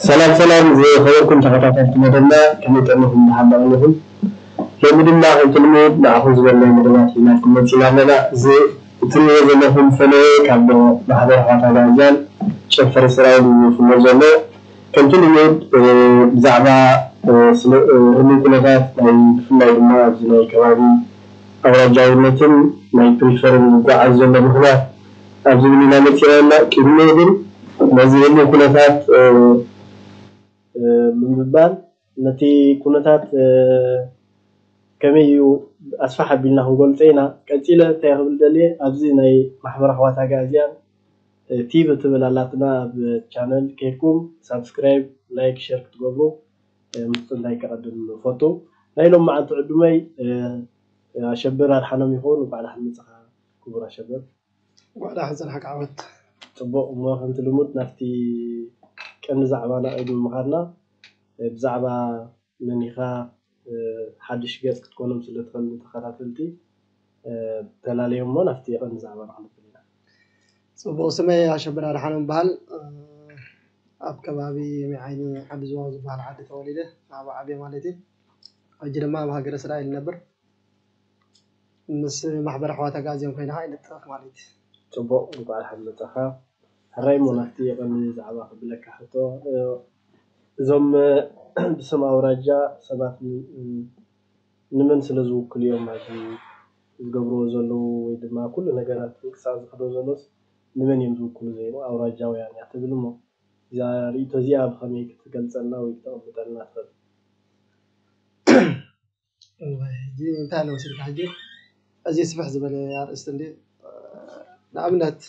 ሰላም ሰላም ዝኸበርኩም ተኸታተልቲ መደብና፣ ከመይ ቀኒኹም? ደሓን ዶ ኣለኹም? ሎሚ ድማ ከምቲ ልሙድ ንዓኹም ዝበልና መደባት ሒዝናልኩም መፂና ኣለና። እዚ እትሪእዎ ዘለኹም ፈለየ ካብ ማሕበር ኣሕዋት ኣጋይዝያን ጨንፈር እስራኤል እዩ ዝፍኖ ዘሎ። ከምቲ ልሙድ ብዛዕባ ህሉው ኩነታት ናይ ብፍላይ ድማ ኣብዚ ናይ ከባቢ ኣውራጃውነትን ናይ ፕሪፈርን ዝጓዓዝ ዘሎ ምኽንያት ኣብ ዝብል ኢና መፂና ኣለና። ቅድሚኡ ግን ነዚ ህሉው ኩነታት ምንብባን ነቲ ኩነታት ከመይ እዩ ኣስፋሕ ኣቢልና ክንገልፆ ኢና። ቀፂለ እንታይ ክብል ደልየ ኣብዚ ናይ ማሕበር ኣሕዋት ኣጋእዝያን ቲቪ ትብል ኣላትና ኣብ ቻነል ከይድኩም ሳብስክራይብ ላይክ ሸር ክትገብሩ ምፅንታይ ከቐድም ፈቱ። ናይ ሎም መዓልቲ ዕዱመይ ኣሸብር ኣድሓኖም ይኸውን። እንኳዕ ደሓን መፅኻ ክቡር ኣሸብር። እንኳዕ ደሓን ፀናሕካ ዓወት። ፅቡቕ እሞ ከምቲ ልሙድ ናብቲ ቀንዲ ዛዕባና ቅድሚ ምኻድና ብዛዕባ መን ኢኻ ሓድሽ ገፅ ክትኮኖም ስለ ትኽእል ንተኸታተልቲ ተላለዮም እሞ ናብቲ ቀንዲ ዛዕባና ክንብል ኢና። ፅቡቕ ስመይ ኣሸብር ኣድሓኖም ይበሃል። ኣብ ከባቢ ሚዓይኒ ዓዲ ዝዋው ዝበሃል ዓዲ ተወሊደ ኣብኡ ዓብየ ማለት እዩ። ሕጂ ድማ ኣብ ሃገረ እስራኤል ይነብር። ምስ ማሕበር ኣሕዋት ኣጋዝያን ኮይና ከዓ ይንጥፍ ማለት እዩ። ፅቡቕ እንኳዕ ደሓን መፃኻ። ሕራይ እሞ ናብቲ ቀንዲ ዛዕባ ክብለካ ሕቶ እዞም ብስም ኣውራጃ ሰባት ንመን ስለ ዝውክሉ እዮም ኣብዚ ዝገብርዎ ዘለዉ ወይ ድማ ኩሉ ነገራት ምንቅስቃስ ዝኸዶ ዘሎስ ንመን እዮም ዝውክሉ ዘይኑ ኣውራጃውያን እያ ትብል እሞ እዛ ርእይቶ እዚኣ ብኸመይ ክትገልፀልና ወይ ክተቐምጠልና ትኽእል? እዋይ፣ ሕጂ እንታይ ኣሎ መሲልካ ሕጂ እዚ ስፍሕ ዝበለ ኣርእስቲ እንዲ ንኣብነት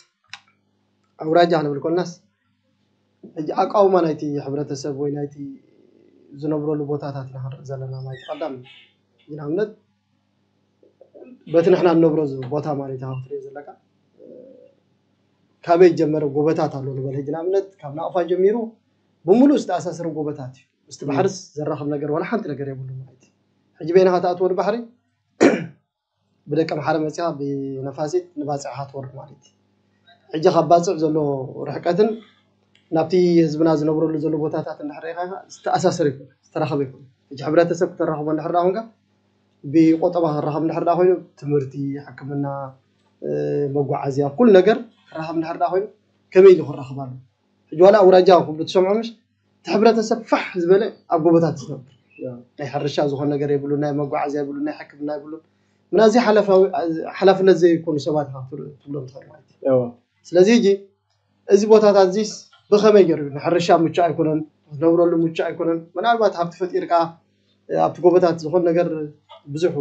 ኣውራጃ ክንብል ኮልናስ ሕጂ ኣቃውማ ናይቲ ሕብረተሰብ ወይ ናይቲ ዝነብረሉ ቦታታት ኢና ክንርኢ ዘለና ማለት ቀዳም ንኣብነት በቲ ንሕና ንነብሮ ቦታ ማለት ኢኻ ክትሪኦ ዘለካ ካበይ ጀመረ ጎበታት ኣሎ ንበል ሕጂ ንኣብነት ካብ ናቕፋ ጀሚሩ ብምሉእ ዝተኣሳሰረ ጎበታት እዩ ምስቲ ባሕርስ ዘራኽብ ነገር ዋላ ሓንቲ ነገር የብሉ ማለት እዩ ሕጂ በይንኻ ትኣትዎ ንባሕሪ ብደቂ ኣምሓረ መፂኻ ብነፋሲት ንባፅዕኻ ትወርድ ማለት እዩ ሕጂ ካብ ባፅዕ ዘሎ ርሕቀትን ናብቲ ህዝብና ዝነብረሉ ዘሎ ቦታታት እንድሕር ርኢኻ ዝተኣሳሰር ይኮነ ዝተራኸበ ይኮነ ሕጂ ሕብረተሰብ ክተራኽቦ እንድሕር ዳ ኮንካ ብቆጠባ ክራኸብ እንድሕር ዳ ኮይኑ ትምህርቲ ሕክምና መጓዓዝያ ኩሉ ነገር ክራኸብ እንድሕር ዳ ኮይኑ ከመይ ኢሉ ክራኸብ ኣሎ ሕጂ ዋላ ኣውራጃ ክብሉ ትሰምዖ ምሽ እቲ ሕብረተሰብ ፋሕ ዝበለ ኣብ ጎቦታት ዝነብር ናይ ሕርሻ ዝኾን ነገር የብሉ ናይ መጓዓዝያ የብሉ ናይ ሕክምና የብሉ ምናዚ ሓላፍነት ዘይኮኑ ሰባት ኢኻ ትብሎም ትኽእል ማለት እዩ ስለዚ ሕጂ እዚ ቦታታት እዚስ ብኸመይ ገይሩ ንሕርሻ ምቹእ ኣይኮነን ክትነብረሉ ምቹእ ኣይኮነን ምናልባት ሃብቲ ፈጢርካ ኣብቲ ጎቦታት ዝኾን ነገር ብዙሕ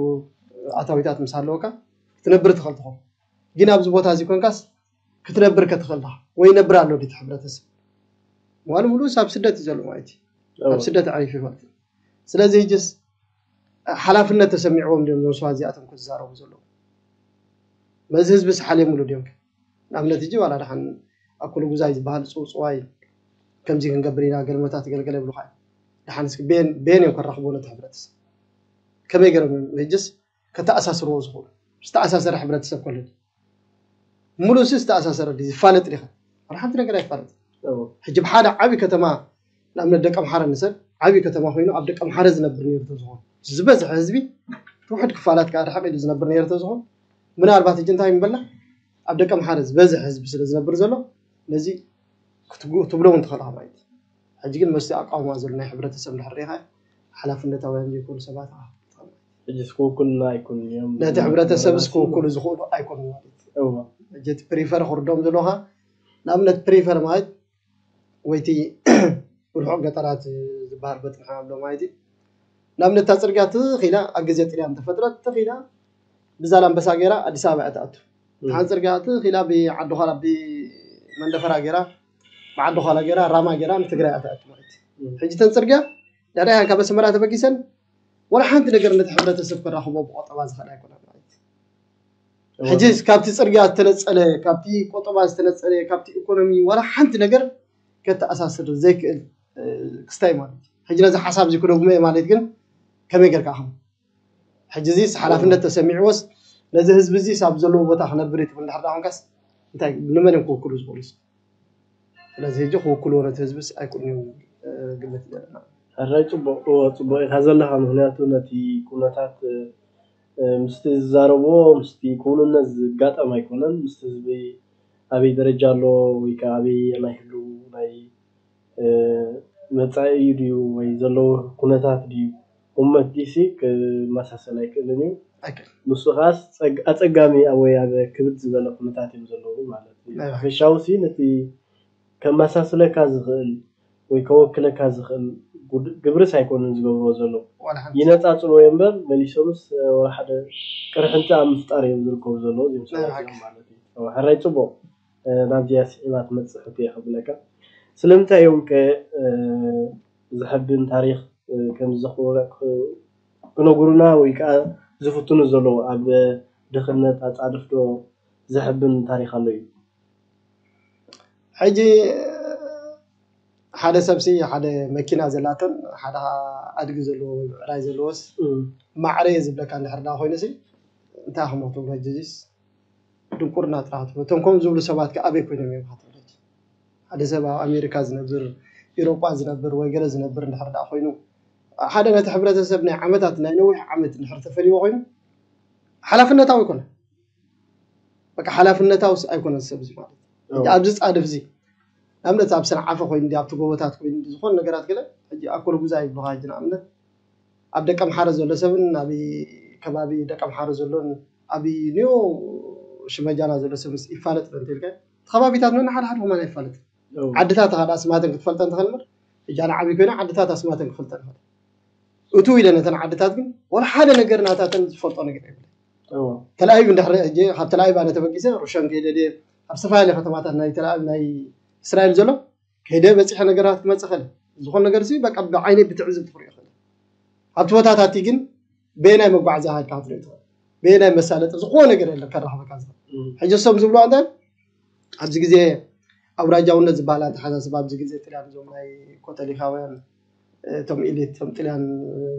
ኣታዊታት ምስ ኣለወካ ክትነብር ትኽእል ትኾን ግን ኣብዚ ቦታ እዚ ኮንካስ ክትነብር ከትኽእል ዳ ወይ ይነብር ኣሎ ድቲ ሕብረተሰብ ዋሉ ሙሉስ ኣብ ስደት እዩ ዘሎ ማለት እዩ ኣብ ስደት ዓሪፉ ማለት እዩ ስለዚ ሕጅስ ሓላፍነት ተሰሚዕዎም ድዮም ዞም ሰባት እዚኣቶም ክዛረቡ ዘለዉ በዚ ህዝቢ ስሓልየምሉ ድዮም ንኣብነት ሕጂ ዋላ ደሓን ኣኩሉ ጉዛይ ዝበሃል ፅውፅዋይ ከምዚ ክንገብር ኢና ገልመታት ገልገለ ይብሉካ እዮም ደሓን እስኪ ቤን ቤን እዮም ከራኽቦ ነቲ ሕብረተሰብ ከመይ ገይሮም እዮም ሕጅስ ከተኣሳስርዎ ዝኽእሉ ዝተኣሳሰረ ሕብረተሰብ ከሎ ሙሉእ ሲ ዝተኣሳሰረ ድዩ ዝፋለጥ ዲኻ ሓደ ሓንቲ ነገር ኣይፋለጥ ሕጂ ብሓደ ዓብዪ ከተማ ንኣብነት ደቂ ኣምሓረ ንሰብ ዓብዪ ከተማ ኮይኑ ኣብ ደቂ ኣምሓረ ዝነብር ነይሩ ተዝኾን ዝበዝሐ ህዝቢ ትውሕድ ክፋላት ከዓ ርሕቕ ኢሉ ዝነብር ነይሩ ተዝኾን ምናልባት ሕጂ እንታይ ምበልና ኣብ ደቂ ኣምሓረ ዝበዝሐ ህዝቢ ስለ ዝነብር ዘሎ ነዚ ትብሎ እውን ትኽእልኻ ማለት ሕጂ ግን መስቲ ኣቃውማ ዘሎ ናይ ሕብረተሰብ እንድሕር ሪኢኻ ሓላፍነታውያን ዘይኮኑ ሰባት ኢኻ ክትብል ትኽእል ማለት እዩ። ሕጂስ ክውክሉና ኣይኮኑን እዮም ነቲ ሕብረተሰብስ ክውክሉ ዝኽእሉ ኣይኮኑን ማለት እዩ። እዋ ሕጂ እቲ ፕሪፈር ክርዶም ዘለኻ ንኣብነት ፕሪፈር ማለት ወይቲ ርሑቕ ገጠራት ዝበሃል በቲ ንሕና ንብሎ ማለት እዩ። ንኣብነት እታ ፅርግያ ትኽ ኢላ ኣብ ግዜ ጥልያን ተፈጥረት ትኽ ኢላ ብዛላምበሳ ገይራ ኣዲስ ኣበባ እያ ትኣቱ። ሓንቲ ፅርግያ ትኽ ኢላ ብዓዲ ዃላ ብመንደፈራ ገይራ ብዓዲ ዃላ ገይራ ራማ ገይራ ንትግራይ እያ ትኣቱ ማለት እዩ። ሕጂ እተን ፅርግያ ዳዳያን ካብ ኣስመራ ተበጊሰን ዋላ ሓንቲ ነገር ነቲ ሕብረተሰብ ከራኽቦ ብቆጠባ ዝኽእል ኣይኮነን ማለት እዩ። ሕጂ ካብቲ ፅርግያ ዝተነፀለ ካብቲ ቆጠባ ዝተነፀለ ካብቲ ኢኮኖሚ ዋላ ሓንቲ ነገር ከተኣሳስር ዘይክእል ክስታይ ማለት እዩ። ሕጂ ነዚ ሓሳብ እዚ ክደግሞ እየ ማለት ግን ከመይ ጌርካ ኢኹም ሕጂ እዚስ ሓላፍነት ተሰሚዕዎስ ነዚ ህዝቢ እዚስ ኣብ ዘለዎ ቦታ ክነብር እዩ ትብል እንድሕር ዳ ኮንካስ እንታይ ንመን እዮም ክውክሉ ዝኽእሉስ? ስለዚ ሕጂ ክውክልዎ ነቲ ህዝብስ ኣይክእሉን እዮም። ግምት ዘለና። ሕራይ ጽቡቕ ጽቡቕ ኢኻ ዘለኻ። ምክንያቱ ነቲ ኩነታት ምስቲ ዝዛረብዎ ምስቲ ክውንነት ዝጋጠም ኣይኮነን። ምስቲ ህዝቢ ኣበይ ደረጃ ኣሎ ወይ ከዓ ኣበይ ናይ ህሉ ናይ መፃኢ እዩ ድዩ ወይ ዘለዎ ኩነታት ድዩ እመት ዲሲ ክመሳሰል ኣይክእልን እዩ። ንሱ ከዓስ ኣፀጋሚ ወይ ኣብ ክብድ ዝበለ ኩነታት እዮም ዘለዉ ማለት እዩ። ሓፈሻዊ ሲ ነቲ ከመሳስለካ ዝኽእል ወይ ከወክለካ ዝኽእል ግብርስ ኣይኮኑን ዝገብርዎ ዘለዉ። ይነፃፅልዎ እዮም እምበር መሊሶምስ ሓደ ቅርሕንቲ ኣብ ምፍጣር እዮም ዝርከቡ ዘለዉ እዚኦም ሰባት ማለት እዩ። ሕራይ ፅቡቕ ናብዚኣ ስዒባ ትመፅእ ሕቶ እየ ከብለካ። ስለምንታይ እዮም ከ ዝሕብን ታሪኽ ከም ዝዘኽሩና ክነግሩና ወይ ከዓ ዝፍትኑ ዘለዉ ኣብ ድኽነት ኣፃድፍ ዶ ዘሕብን ታሪኽ ኣሎ እዩ? ሕጂ ሓደ ሰብሲ ሓደ መኪና ዘላቶን ሓደ ኣድጊ ዘለዎ ወይ ብዕራይ ዘለዎስ ማዕረ እየ ዝብለካ እንድሕር ዳ ኮይኑ ሲ እንታይ ክሞ ትብሎ ሕጂስ ድንቁርና ጥራሕ ትብሎ። እቶም ከም ዝብሉ ሰባት ከ ኣበይ ኮይኖም እዮም ትብሎ? ሓደ ሰብ ኣብ ኣሜሪካ ዝነብር ኢሮጳ ዝነብር ወይ ገለ ዝነብር እንድሕር ዳ ኮይኑ ሓደ ነቲ ሕብረተሰብ ናይ ዓመታት ናይ ነዊሕ ዓመት እንድሕር ተፈልይዎ ኮይኑ ሓላፍነታዊ ይኮነ በቃ ሓላፍነታዊ ኣይኮነን ሰብ እዚ ማለት ኣብዚ ፃድፍ እዚ ንኣብነት ኣብ ሰንዓፈ ኮይኑ ኣብቲ ጎቦታት ኮይኑ ዝኾነ ነገራት ገለ ሕጂ ኣኮል ጉዛ ይብሉካ ሕጂ ንኣብነት ኣብ ደቀምሓረ ዘሎ ሰብን ኣብ ከባቢ ደቀምሓረ ዘሎን ኣብ ኒዮ ሽመጃና ዘሎ ሰብ ይፋለጥ ዶ እንተልካ እቲ ከባቢታት ነና ሓደ ሓደ ከማን ኣይፋለጥ ዓድታት ሓደ ኣስማተን ክትፈልጠ እንትኽእል እምበር እጃ ንዓብይ ኮይና ዓድታት ኣስማተን ክፈልጠ ንኽእል እቱ ኢለ ነተን ዓድታት ግን ወላ ሓደ ነገር ናታተን ዝፈልጦ ነገር የብለ ተላኣይብ እንድሕር ሕጂ ካብ ተላኣይብ ኣነ ተበጊሰ ሩሸን ከይደ ድየ ኣብ ዝተፈላለዩ ከተማታት ናይ ተላኣይብ ናይ እስራኤል ዘሎ ከይደ በፂሐ ነገራት ክመፅእ ኸእል ዝኾነ ነገር ሲ በቃ ብዓይነይ ብትዕዝብ ትኽሪኦ ኸእል ኣብቲ ቦታታት ግን በየናይ መጓዓዝያ ሃድካ ክትሪኦ ትኽእል በየናይ መሳለጢ ዝኾነ ነገር የለ ከራኽበካ ዝኽእል ሕጂ እሶም ዝብሉ እንታይ ኣብዚ ግዜ ኣውራጃውነት ዝበሃል ኣተሓሳስባ ኣብዚ ግዜ ጥልያን እዞም ናይ ኮተሊካውያን እቶም ኢሊት እቶም ጥልያን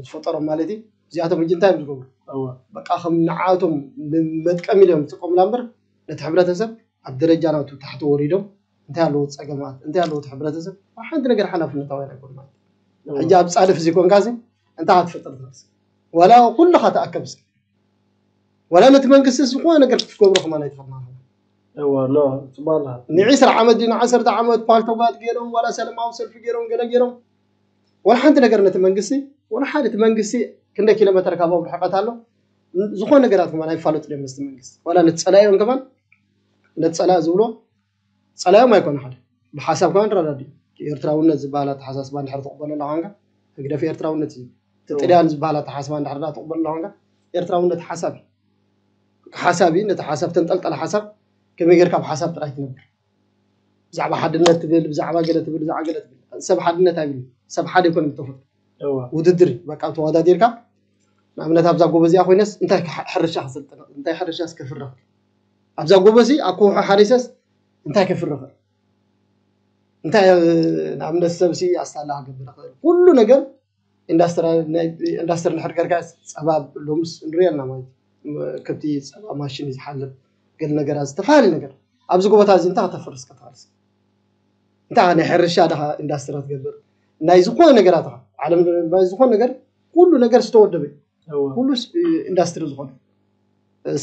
ዝፈጠሮም ማለት እዩ እዚኣቶም ሕጂ እንታይ እዮም ዝገብሩ በቃ ከም ንዓቶም ንመጥቀም ኢሎም ዝጥቀሙላ እምበር ነቲ ሕብረተሰብ ኣብ ደረጃ ናቱ ታሕቲ ወሪዶም እንታይ ኣለዎ ፀገማት እንታይ ኣለዎ እቲ ሕብረተሰብ ሓንቲ ነገር ሓላፍነታዊ ኣይኮን ማለት ሕጂ ኣብ ፃድፍ እዚ ኮንካ እንታይ ክትፈጥር ትኽእል ዋላ ኩልኻ ተኣከብ እስኪ ዋላ ነቲ መንግስቲ ዝኾነ ነገር ክትገብሮ ከማን ኣይትኽእል ንዒስራ ዓመት ድዩ ንዓሰርተ ዓመት ፓልቶጋት ገይሮም ዋላ ሰለማዊ ሰልፊ ገይሮም ገለ ገይሮም ዋላ ሓንቲ ነገር ነቲ መንግስቲ ዋላ ሓደ እቲ መንግስቲ ክንደይ ኪሎ ሜትር ካብኦም ርሕቀት ኣሎ ዝኾነ ነገራት ከማን ኣይፋለጡ ድዮም ምስቲ መንግስቲ ዋላ ነቲ ፀላኢኦም ከማን ነቲ ፀላኢ ዝብሎ ፀላዮም ኣይኮነ ሓደ ብሓሳብ ከማን ረዳዲ ኤርትራውነት ዝበሃል ኣተሓሳስባ እንድሕር ትቕበሎ ኣለኻ ኮንካ ህግደፍ ኤርትራውነት እዩ እቲ ጥልያን ዝበሃል ኣተሓሳስባ እንድሕር ትቕበሎ ኣለኻ ኮንካ ኤርትራውነት ሓሳብ እዩ ሓሳብ እዩ ነቲ ሓሳብ ተንጠልጠለ ሓሳብ ከመይ ጌርካ ኣብ ሓሳብ ጥራይ ትነብር ብዛዕባ ሓድነት ትብል ብዛዕባ ገለ ትብል ብዛዕባ ገለ ትብል ሰብ ሓድነት ኣይብል ሰብ ሓደ ይኮነ ብተፈጥሮ ውድድር እዩ በቃ ተወዳዲርካ ንኣብነት ኣብዛ ጎበዚኣ ኮይነስ እንታይ ሕርሻ ክሰልጥነ እንታይ ሕርሻስ ከፍርኽ ኣብዛ ጎበዚ ኣብ ከውሒ ሓሪሰስ እንታይ ከፍርኽ እንታይ ንኣብነት ሰብሲ ኣስታላ ክገብር ይኽእል ኩሉ ነገር ኢንዳስትሪ እንድሕር ገርካ ፀባ ሎምስ ንሪኦ ኣለና ማለት ከብቲ ፀባ ማሽን እዩ ዝሓልብ ገለ ነገራት ዝተፈላለዩ ነገር ኣብዚ ጎቦታት እዚ እንታይ ከተፍርስ ከተፋርስ እንታይ ናይ ሕርሻ ድኻ ኢንዳስትሪ ትገብር ናይ ዝኾነ ነገራት ኢኻ ዓለም ናይ ዝኾነ ነገር ኩሉ ነገር ዝተወደበ ኩሉ ኢንዳስትሪ ዝኾነ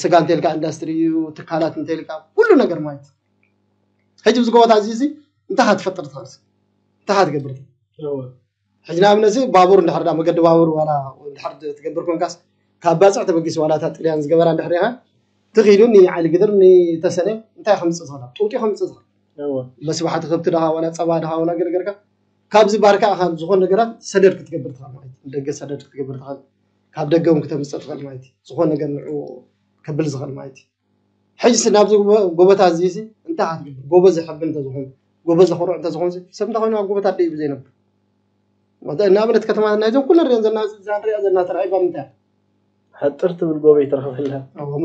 ስጋ እንተልካ ኢንዳስትሪ እዩ ትካላት እንተልካ ኩሉ ነገር ማለት ሕጂ ኣብዚ ጎቦታት እዚ እንታይ ክትፈጥር ትኽእል እንታይ ክትገብር ሕጂ ንኣብነት ባቡር እንድሕር ዳ መገዲ ባቡር ዋላ እንድሕር ትገብር ኮንካስ ካብ ባፅዕ ተበጊስ ዋላ እታ ጥልያን ዝገበራ እንድሕር ኢኻ ትኺዱ ንዓሊ ግድር ንተሰነ እንታይ ከምፅእ ትኽእላ ጡጢ ከምፅእ ትኽእል መስባሕቲ ከብቲ ድኻ ዋላ ፀባ ድኻ ዋላ ገለገልካ ካብዚ ባርካ ኢኻ ዝኾን ነገራት ሰደድ ክትገብር ትኽእል ማለት ደገ ሰደድ ክትገብር ትኽእል ካብ ደገ እውን ክተምፅእ ትኽእል ማለት ዝኾን ነገር ንዑ ከብል ዝኽእል ማለት ሕጂ ናብዚ ጎበታ እዚ እንታይ ክትገብር ጎበዝ ዝሕብ እንተዝኾን ጎበዝ ዘኽርዑ እንተዝኾን ሰብ እንታይ ኮይኑ ኣብ ጎበታ ደይ ብዘይነብር ንኣብነት ከተማ ናይዞም ኩለ ሪኦ ዘለና እዛ ንሪኣ ዘለና ተራኢባ ምንታይ ሓጥር ትብል ጎበ ይትረኽበላ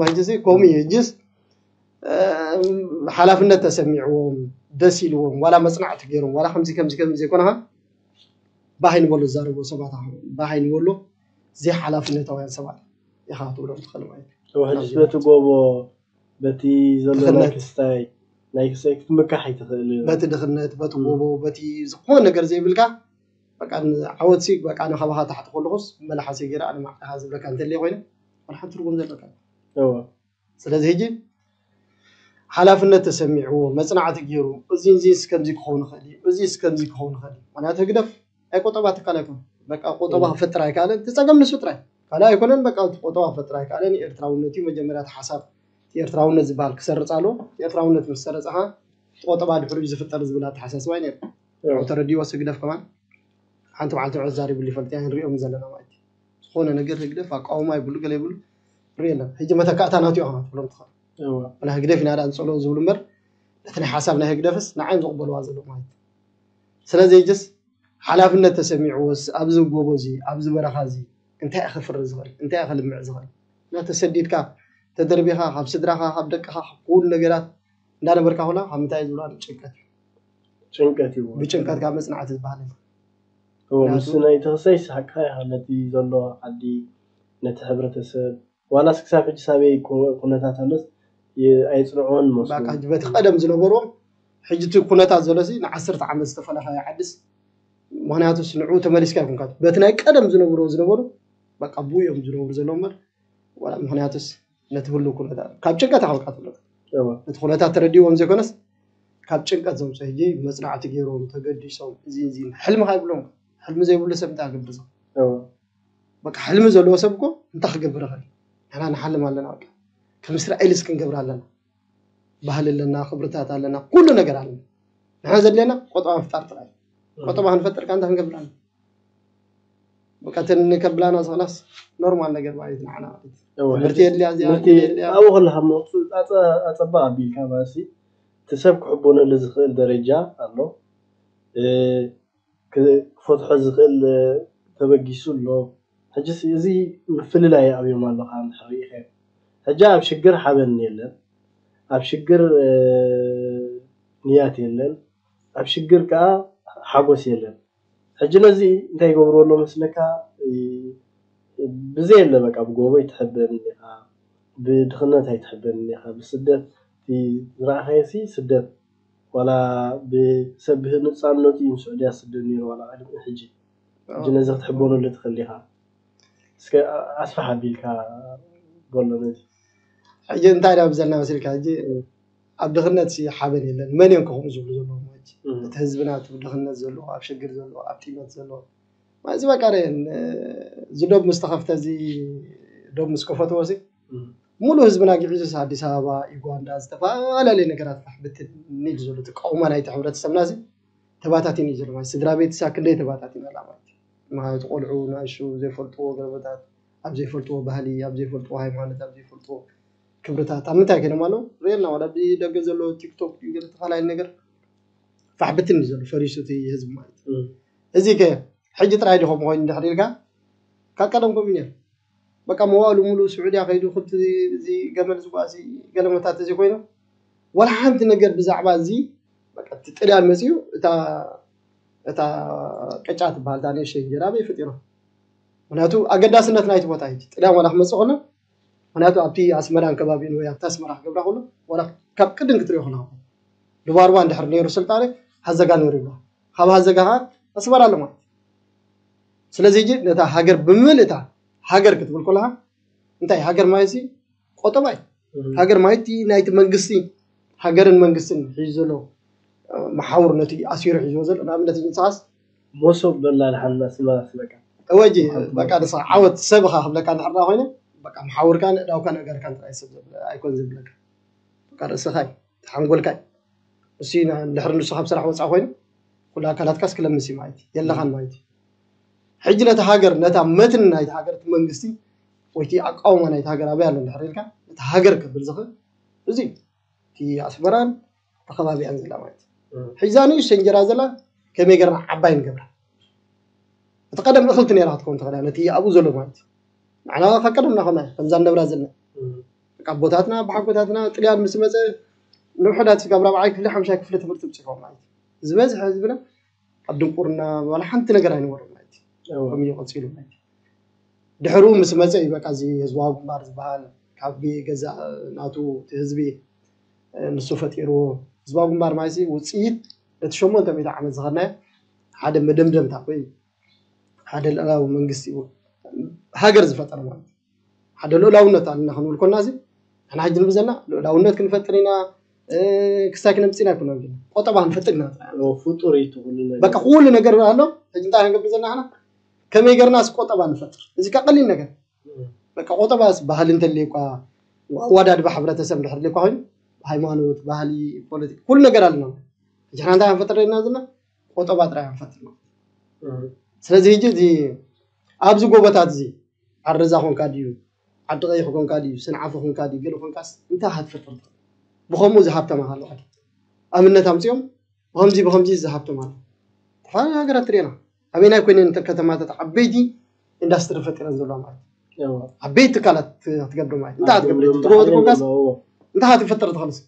ሕጂ ከምኡ እዩ ሕጂስ ሓላፍነት ተሰሚዕዎም ደስ ኢልዎም ዋላ መፅናዕቲ ገይሮም ዋላ ከምዚ ከምዚ ከምዚ ዘይኮነኻ ባህ ይንበሉ ዝዛረቡ ሰባት ባህ ይንበሉ ዘይሓላፍነታውያን ሰባት ኢኻ ክትብሎም ትኽእል ማለት እዩ በቲ ጎቦ በቲ ዘሎ ናይ ክስታይ ናይ ክስታይ ክትምካሕ ኣይትኽእል በቲ ድኽነት በቲ ጎቦ በቲ ዝኾነ ነገር ዘይብልካ በቃ ዓወትሲ በቃ ንኸባኻ ታሕቲ ከለኹስ መላሓሲ ገይረ ኣነ ማዕካ ዝብለካ እንተልየ ኮይነ ዋላ ሓንቲ ትርጉም ዘለካ እዎ። ስለዚ ሕጂ ሓላፍነት ተሰሚዕዎ መፅናዕቲ ገይሩ እዚ እዚ እስከምዚ ክኸውን ይኽእል እዩ፣ እዚ እስከምዚ ክኸውን ይኽእል እዩ። ምክንያቱ ህግደፍ ናይ ቆጠባ ትካል ኣይኮነ። በቃ ቆጠባ ክፈጥር ኣይከኣለን። እቲ ፀገም ንሱ ጥራይ ካልእ ኣይኮነን። በቃ እቲ ቆጠባ ክፈጥር ኣይከኣለን። ኤርትራውነት እዩ መጀመርያ እቲ ሓሳብ። እቲ ኤርትራውነት ዝበሃል ክሰርፅ ኣለዎ። እቲ ኤርትራውነት ምስ ሰረፀኻ እቲ ቆጠባ ድሕሪኡ ዝፍጠር ዝብል ኣተሓሳስባ እዩ ነይሩ። ተረዲዎ ህግደፍ ከማን ሓንቲ መዓልቲ ንዑ ዛሪብሉ ይፈልጥ ኢና ንሪኦም ዘለና ማለት እዩ። ዝኾነ ነገር ህግደፍ ኣቃውማ ይብሉ ገለ ይብሉ ንሪኦ ኣለና። ሕጂ መተካእታ ናቱ እዩ ከማን ትብሎም ትኽእል። ወላ ህግደፍ ኢና ዳ ንፀልኦ ዝብሉ እምበር ነቲ ናይ ሓሳብ ናይ ህግደፍስ ንዓይም ዝቕበልዋ ዘለዉ ማለት እዩ። ስለዚ ሕጅስ ሓላፍነት ተሰሚዕዎስ ኣብዚ ጎቦ እዚ ኣብዚ በረኻ እዚ እንታይ እዩ ከፍሪ ዝኽእል እንታይ እዩ ከልምዕ ዝኽእል እና ተሰዲድካ ተደርቢኻ ካብ ስድራኻ ካብ ደቅኻ ካብ ኩሉ ነገራት እንዳነበርካ ኩላ ካብ ምንታይ ዝብላ ጭንቀት እዩ። ጭንቀት እዩ። ብጭንቀት ካብ መፅናዕቲ ዝበሃል የለን። እዎ፣ ምስ ናይ ተኽሳይ ይስሓቅካ ኢኻ ነቲ ዘሎ ዓዲ ነቲ ሕብረተሰብ ዋላስ ክሳብ ሕጂ ሳበይ ኩ- ኩነታት ኣሎስ የ- ኣይፅንዕዎን መስሉ። በቃ በቲ ቀደም ዝነበርዎም ሕጂ እቲ ኩነታት ዘሎ ሲ ንዓሰርተ ዓመት ዝተፈለኻዮ ዓድስ ምክንያቱስ ንዕኡ ተመሊስካ ይኮንካ በቲ ናይ ቀደም ዝነብርዎ ዝነበሩ በቃ ብኡ እዮም ዝነብሩ ዘለዉ እምበር ዋላ ምክንያቱስ ነቲ ህሉ ኩነታት ካብ ጭንቀት ኣኸልካ ትብሎ እዎ። ነቲ ኩነታት ተረዲዎም ዘይኮነስ ካብ ጭንቀት ዘምፅኦ ሕጂ መፅናዕቲ ገይሮም ተገዲሶም እዚ እዚ ሕልምኻ ይብሎም ሕልሚ ዘይብሉ ሰብ እንታይ ክገብር ዘሎ እዎ። በቃ ሕልሚ ዘለዎ ሰብ እኮ እንታይ ክገብር ይኽእል ንሕና ንሓልም ኣለና በቃ ከም እስራኤልስ ክንገብር ኣለና ባህሊ ኣለና ክብርታት ኣለና ኩሉ ነገር ኣለና ንሕና ዘድልየና ቆጠባ ምፍጣር ጥራይ ቆጠባ ክንፈጥር ከ እንታይ ክንገብር ኣለና በቃ እተን ከብላና ዝኽእላስ ኖርማል ነገር ማለት እዩ ንዓና ማለት እዩ ትምህርቲ የድልያ እዚኣ ትምህርቲ የድልያ ኣብኡ ከለኻ እሞ ኣፀ- ኣፀባቕ ኣቢልካ ማለት እዩ እቲ ሰብ ክሕቦነሉ ዝኽእል ደረጃ ኣሎ እ፣ ክ- ክፈትሖ ዝኽእል እ፣ ተበጊሱ ኣሎ ሕጂ እዚ ምፍልላይ ኣብዮም ኣለኻ እንድሕር ርኢኸ ሕጂ ኣብ ሽግር ሓበን የለን ኣብ ሽግር እ፣ ንያት የለን ኣብ ሽግር ከዓ ሓጎስ የለን ሕጂ ነዚ እንታይ ይገብርዎ ኣሎ መስለካ ብዘየለ በቃ ብጎቦ ኣይትሕበን ኢኻ ብድኽነት ኣይትሕበን ኢኻ ብስደት ዝረኣኻዮ ሲ ስደት ዋላ ብሰብ ብህንፃነቱ እዩ ንስዑድያ ዝስደድ ነይሩ ዋላ ቅድሚ ሕጂ ሕጂ ነዚ ክትሕበነሉ ትኽእል ኢኻ እስከ ኣስፋሕ ኣቢልካ በሎ ነዚ ሕጂ እንታይ ኢና ብዘልና መሲልካ ሕጂ ኣብ ድኽነት ሲ ሓበን የለን መን እዮም ከምኡ ዝብሉ ዘለዎም ሕጂ እቲ ህዝብና እቲ ድኽነት ዘለዎ ኣብ ሽግር ዘለዎ ኣብ ጢመት ዘለዎ እዚ በቃ ርአን እዚ ዶብ ምስ ተኸፍተ እዚ ዶብ ምስ ከፈትዎ ሲ ሙሉ ህዝብና ግዒዙስ ኣዲስ ኣበባ ዩጋንዳ ዝተፈላለዩ ነገራት ፋሕ ብትን ኢሉ ዘሎ እቲ ቀውማ ናይቲ ሕብረተሰብና ሲ ተባታቲን እዩ ዘሎ ማለት ስድራ ቤት ሳ ክንደይ ተባታቲን ኣላ ማለት እዩ ምክንያቱ ቆልዑ ንኣሹ ዘይፈልጥዎ ገለቦታት ኣብ ዘይፈልጥዎ ባህሊ ኣብ ዘይፈልጥዎ ሃይማኖት ኣብ ዘይፈልጥዎ ክብርታት ኣብ ምንታይ ከይዶም ኣለዉ ርእየና ዋላ ብደገ ዘሎ ቲክቶክ ገለ ተፈላለየ ነገር ፋሕ ብትን እዩ ዘሎ ፈሪሱ እቲ ህዝቢ ማለት እዩ እዚ ከ ሕጂ ጥራይ ዲኹም ኮይኑ ድሕሪ ኢልካ ካብ ቀደም ከምኡ ነይሩ በቃ መዋእሉ ሙሉ ስዑድያ ከይዱ ክብቲ እዚ ገመል ዝጓሲ ገለመታት እዚ ኮይኑ ዋላ ሓንቲ ነገር ብዛዕባ እዚ በቃ እቲ ጥልያን መፅኡ እታ እታ ቅጫ ትበሃል እታ ንእሽተይ እንጀራ ኣበይ ፈጢሮ ምክንያቱ ኣገዳስነት ናይቲ ቦታ እዩ ጥልያን ዋላ ክመፅእ ከሎ ምክንያቱ ኣብቲ ኣስመራን ከባቢኡን ወይ ኣብቲ ኣስመራ ክገብራ ከሎ ዋላ ካብ ቅድም ክትሪኦ ከለካ ድባርባ እንድሕር ነይሩ ስልጣነ ሃዘጋ ነይሩ ይብላ ካብ ሃዘጋ ከዓ ኣስመራ ኣሎ ማለት ስለዚ ሕጂ ነታ ሃገር ብምልእታ ሃገር ክትብል ከለካ እንታይ ሃገር ማለት ሲ ቆጠባ እዩ ሃገር ማለት እቲ ናይቲ መንግስቲ ሃገርን መንግስትን ሒዙ ዘሎ መሓውር ነቲ ኣሲሩ ሒዝዎ ዘሎ ንኣብነት ንስኻስ መሶብ በላ ድሓን ኣስመራ ስበካ እወጂ በቃ ንስኻ ዓወት ሰብኻ ክብለካ እንድሕር ኮይነ በቃ መሓውርካን እዳውካን ኣጋርካን ጥራይ ሰብ ኣይኮን ዝብለካ በቃ ርእስኻ እዩ ሓንጎልካ እዩ እሱ ድሕሪ ንሱ ካብ ስራሕ ወፃእ ኮይኑ ኩሉ ኣካላትካስ ክለምስ እዩ ማለት እዩ የለኻን ማለት እዩ ሕጂ ነቲ ሃገር ነታ መትን ናይቲ ሃገር እቲ መንግስቲ ወይቲ ኣቃውማ ናይቲ ሃገር ኣበይ ኣሎ ድሕር ኢልካ ነቲ ሃገር ከብል ዝኽእል እዚ እቲ ኣስመራን ተኸባቢያን ዘላ ማለት እዩ ሕጂ እዛ ንእሽተ እንጀራ ዘላ ከመይ ገርና ዓባይ ንገብራ እቲ ቀደም እኽልቲ ነራ ክትከውን ትኽእላ ነቲ ኣብኡ ዘሎ ማለት እዩ ንዓና ካብ ቀደምና ከማ ከምዛ ንነብራ ዘለና ኣቦታትና ብሓጎታትና ጥልያን ምስ መፀ ንውሕዳት ካብ ራብዓይ ክፍሊ ሓምሻይ ክፍሊ ትምህርቲ ብፅሖም ማለት እዩ ዝበዝሐ ህዝብና ኣብ ድንቁርና ዋላ ሓንቲ ነገር ኣይነበሩ ማለት እዩ ከምኡ ቀፂሉ ማለት እዩ ድሕሩ ምስ መፀ እዩ በቃ እዚ ህዝባዊ ግንባር ዝበሃል ካብ ገዛ ናቱ ህዝቢ ንሱ ፈጢርዎ ህዝባዊ ግንባር ማለት ውፅኢት ነቲ ሸሞንተ ሚእቲ ዓመት ዝኸድናዮ ሓደ መደምደምታ ወይ ሓደ ልእላዊ መንግስቲ እዩ ሃገር ዝፈጠረ ማለት እዩ። ሓደ ልእላውነት ኣለና ክንብል ኮና እዚ ንሕና ሕጂ ንብል ዘለና ልእላውነት ክንፈጥር ኢና ክሳይ ክነምፅና ይኮና ቆጠባ ክንፈጥር ኢና። ፍጡር እዩ ኩሉ ነገር። በቃ ኩሉ ነገር ኣሎ። ሕጂ እንታይ ክንገብር ዘለና ንሕና ከመይ ገርናስ ቆጠባ ንፈጥር? እዚ ካ ቀሊል ነገር በቃ ቆጠባስ ባህሊ እንተልዩ እኳ ኣዋዳድባ ሕብረተሰብ እንድሕር ልዩ እኳ ኮይኑ ሃይማኖት፣ ባህሊ፣ ፖለቲካ ኩሉ ነገር ኣለና። ሕጂ ሓና እንታይ ክንፈጥር ደለና ዘለና ቆጠባ ጥራይ ክንፈጥር ነው። ስለዚ ሕጂ እዚ ኣብዚ ጎቦታት እዚ ዓረዛ ኮንካ ድዩ ዓዲ ቀይሕ ኮንካ ድዩ ስንዓፈ ኮንካ ድዩ ገለ ኮንካስ እንታይ ክትፈጥር ትኽእል? ብኸምኡ እዚ ሃብተማ ኣሎ። ኣብነት ኣምፅኦም ብኸምዚ ብኸምዚ እዚ ሃብተማ ኣሎ። ተፈላለዩ ሃገራት ትሪኤና ኣበይናይ ኮይነን እተን ከተማታት ዓበይቲ ኢንዳስትሪ ፈጢረን ዘለዋ ማለት እዩ። ዓበይቲ ትካላት ክትገብር ማለት እንታይ ክትገብር ትጎቦ ትኮንካስ እንታይ ክትፈጥር ትኽእልስ?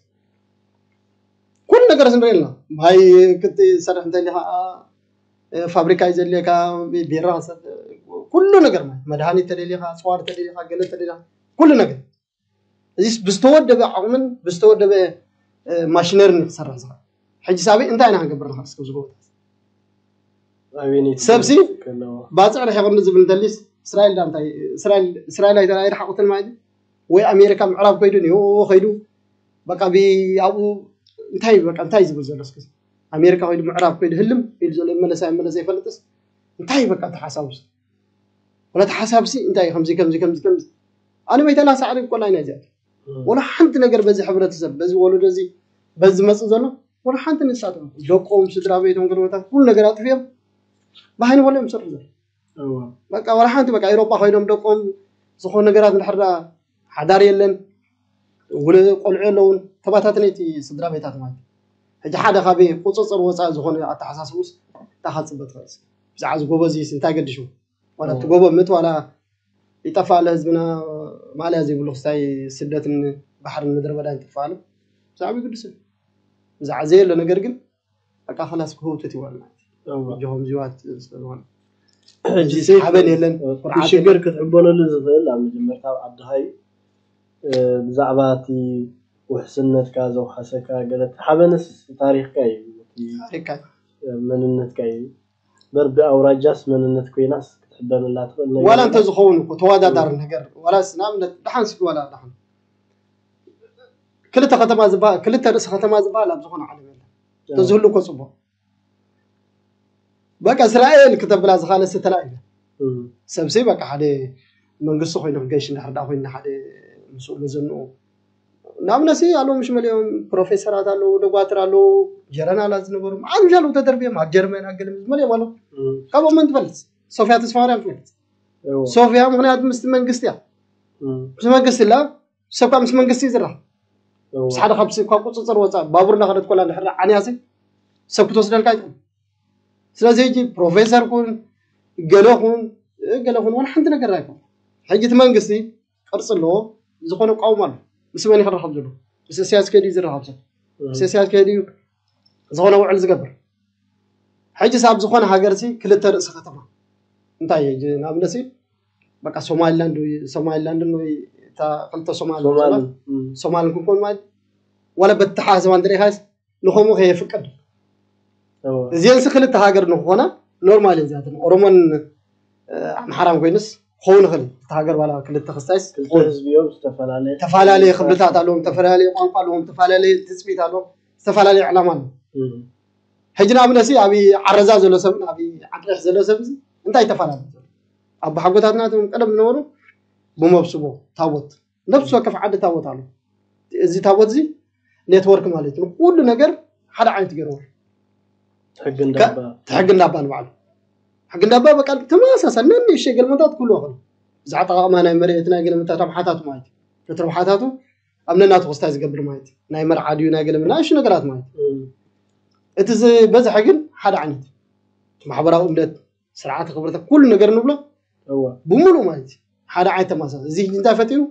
ኩሉ ነገር ንርኢ ኣለና። ማይ ክትሰርሕ እንተሊኻ ፋብሪካ እዩ ዘድልየካ፣ ቢራ ክትሰ- ኩሉ ነገር ማለት መድሃኒት ተደሊኻ፣ ኣፅዋር ተደሊኻ፣ ገለ ተደሊኻ ኩሉ ነገር እዚ ብዝተወደበ ዓቕምን ብዝተወደበ ማሽነርን ክሰርሕ ዝኽእል። ሕጂ ሳበይ እንታይ ኢና ክንገብር ንኽእል እስከ ዝጎቦታት ኣበይነይ ሰብሲ ከለዎ ባፅዕ ርሒቕኒ ዝብል እንተሊስ እስራኤል ዳ እንታይ እስራኤል እስራኤል ኣይተራእየ ሓቑትን ማለት እዩ። ወይ ኣሜሪካ ምዕራብ ከይዱ ኒሆ ከይዱ በቃ ብ- ኣብኡ እንታይ በቃ እንታይ ዝብል ዘሎ እስከ ኣሜሪካ ከይዱ ምዕራብ ከይዱ ህልም ኢሉ ዘሎ ይመለሳ ይመለስ ዘይፈልጥስ እንታይ በቃ ተሓሳብስ ወላ ተሓሳብሲ እንታይ ከምዚ ከምዚ ከምዚ ከምዚ ኣነ መይተላ ሳዕሪ እኮ ላይ ናይ ዚኣት ወላ ሓንቲ ነገር በዚ ሕብረተሰብ በዚ ወለዶ እዚ በዚ ዝመፅእ ዘሎ ወላ ሓንቲ ንሳቶም ደቆም ስድራ ቤቶም ገለመታት ኩሉ ነገር ኣጥፍዮም ብሃይኒ ወላ እዮም ዝሰርሑ ዘሎ እዎ በቃ ወላ ሓንቲ በቃ ኤሮጳ ኮይኖም ደቆም ዝኾኑ ነገራት እንድሕር ደኣ ሓዳር የለን ውለ ቆልዑ የለውን ተባታተነይቲ ስድራ ቤታት ማለት እዩ። ሕጂ ሓደ ካብ ቁፅፅር ወፃኢ ዝኾነ ኣተሓሳስቡስ እንታይ ካብ ፅበ ትኽእል እስኪ? ብዛዕባ እዚ ጎበዝ እዩስ እንታይ ገድሹ ዋላ እቲ ጎቦ ምት ዋላ ይጠፋ ኣለ ህዝብና ማልያ ዘይብሉ ክስታይ ስደትን ባሕርን ምድረ በዳን ይጥፋ ኣለ ብዛዕባ ግድስ ብዛዕባ ዘየሎ ነገር ግን በቃ ከላስ ክህውትት ይዋል ማለት እዩ። እዎ ጆሆም ዚዋት ስለዝኾነ ሕጂ ሓበን የለን እቲ ሽግር ክትሕበነሉ ዝኽእል ኣብ መጀመርታ ኣብ ዓድኻ እዩ እ፣ ብዛዕባ እቲ ውሕስነትካ ዘውሓሰካ ገለ እቲ ሓበንስ ታሪኽካ እዩ እቲ ታሪካ መንነትካ እዩ በር ብኣውራጃስ መንነት ኮይናስ ክትሕበነላ ትኽእል ነገር ዋላ የለን። እንተዝኸውን እኮ ተወዳዳሪ ነገር ዋላስ ንኣብነት ደሓን ስኪ ዋላ ደሓን ክልተ ከተማ ዝበሃል ክልተ ርእሲ ከተማ ዝበሃል ኣብ ዝኾነ ዓለም የለን ተዝህሉ እኮ ፅቡቅ በቃ እስራኤል ክተብላ ዝኻለስ ተላኢለ እም፣ ሰብሲ በቃ ሓደ መንግስቲ ኮይኑ ክገሽ እንድሕር ዳ ኮይኑ ሓደ ምስኡ መዘንኡ ንኣብነሲ ኣለዉ ምሽ መሊኦም ፕሮፌሰራት ኣለዉ ደጓትር ኣለዉ ጀረናላት ዝነበሩ መዓት ምሽ ኣለዉ ተደርቢዮም ኣብ ጀርመን ኣገለ መሊኦም ኣለዉ እም፣ ካብኦም መን ትፈልጥ ሶፍያ ተስፋማርያም ትፈልጥ እዎ፣ ሶፍያ ምክንያቱ ምስቲ መንግስቲ እያ እም፣ ምስ መንግስቲ ላ ሰብ ካብ ምስ መንግስቲ እዩ ዝራኸብ እዎ፣ ምስ ሓደ ካብሲ ካብ ቁፅፅር ወፃእ ባቡር እናኸደት ኮላ እንድሕር ዓንያሲ ሰብ ክትወስደልካ ኣይትኽእል ስለዚ ሕጂ ፕሮፌሰር ኩን ገለ ኩን ገለ ኩን ዋላ ሓንቲ ነገር ኣይኮን ሕጂ እቲ መንግስቲ ቅርፂ ኣለዎ ዝኾነ ቃውም ኣሎ ምስ መን ይክረኸብ ዘሎ ምስ እስያስ ከዲ ዝረኸብ ሰብ ምስ እስያስ ከዲ ዝኾነ ውዕል ዝገብር ሕጂ ሳብ ዝኾነ ሃገርሲ ክልተ ርእሲ ከተማ እንታይ እዩ ሕጂ ንኣብነሲ በቃ ሶማሊላንድ ወይ ሶማሊላንድን ወይ እታ ክልተ ሶማል ሶማል ሶማልን ክንኮን ማለት ዋላ በተሓሳስባ እንተሪኢኻስ ንኸምኡ ከየፍቅድ እዎ፣ እዚአንስ ክልተ ሃገር ንክኾና ኖርማል እዚኣትን ኦሮሞን ኣምሓራን ኮይንስ ክኸውን ይኽእል እቲ ሃገር ዋላ ክልተ ክስታይስ ክልተ ህዝቢ እዮም ዝተፈላለየ ተፈላለየ ክብልታት ኣለዎም ተፈላለየ ቋንቋ ኣለዎም ተፈላለየ ትፅቢት ኣለዎም ዝተፈላለየ ዕላማ ኣለዎም እም፣ ሕጂ ንኣብነሲ ኣብ ዓረዛ ዘሎ ሰብን ኣብ ዓድሬሕ ዘሎ ሰብ እዚ እንታይ ተፈላለዩ ዘሎ ኣቦሓጎታትና እቶም ቀደም ዝነበሩ ብመብስቦ ታቦት ነብሲ ወከፍ ዓዲ ታቦት ኣሎ እዚ ታቦት እዚ ኔትወርክ ማለት እዩ ኩሉ ነገር ሓደ ዓይነት ገይርዎ ሕጊ እንዳባ ሕጊ እንዳባ ንባዕሉ ሕጊ እንዳባ በቃ ተመሳሳሊ ነንእሽተይ ገልመታት ክህልዎ ይኽእሉ እዚ ኣጠቃቅማ ናይ መሬት ናይ ገልመታት ረብሓታቱ ማለት እዩ ነቲ ረብሓታቱ ኣብ ነናቱ ክስታይ ዝገብር ማለት እዩ ናይ መርዓ ድዩ ናይ ገለ ናይ እሺ ነገራት ማለት እዩ እም፣ እቲ ዝበዝሐ ግን ሓደ ዓይነት እዩ። እቲ ማሕበራዊ እምነት ስርዓተ ክብረተ ኩሉ ነገር ንብሎ እዎ፣ ብምሉእ ማለት እዩ ሓደ ዓይነት ተማሳሰ እዚ ሕጂ እንታይ ፈጢሩ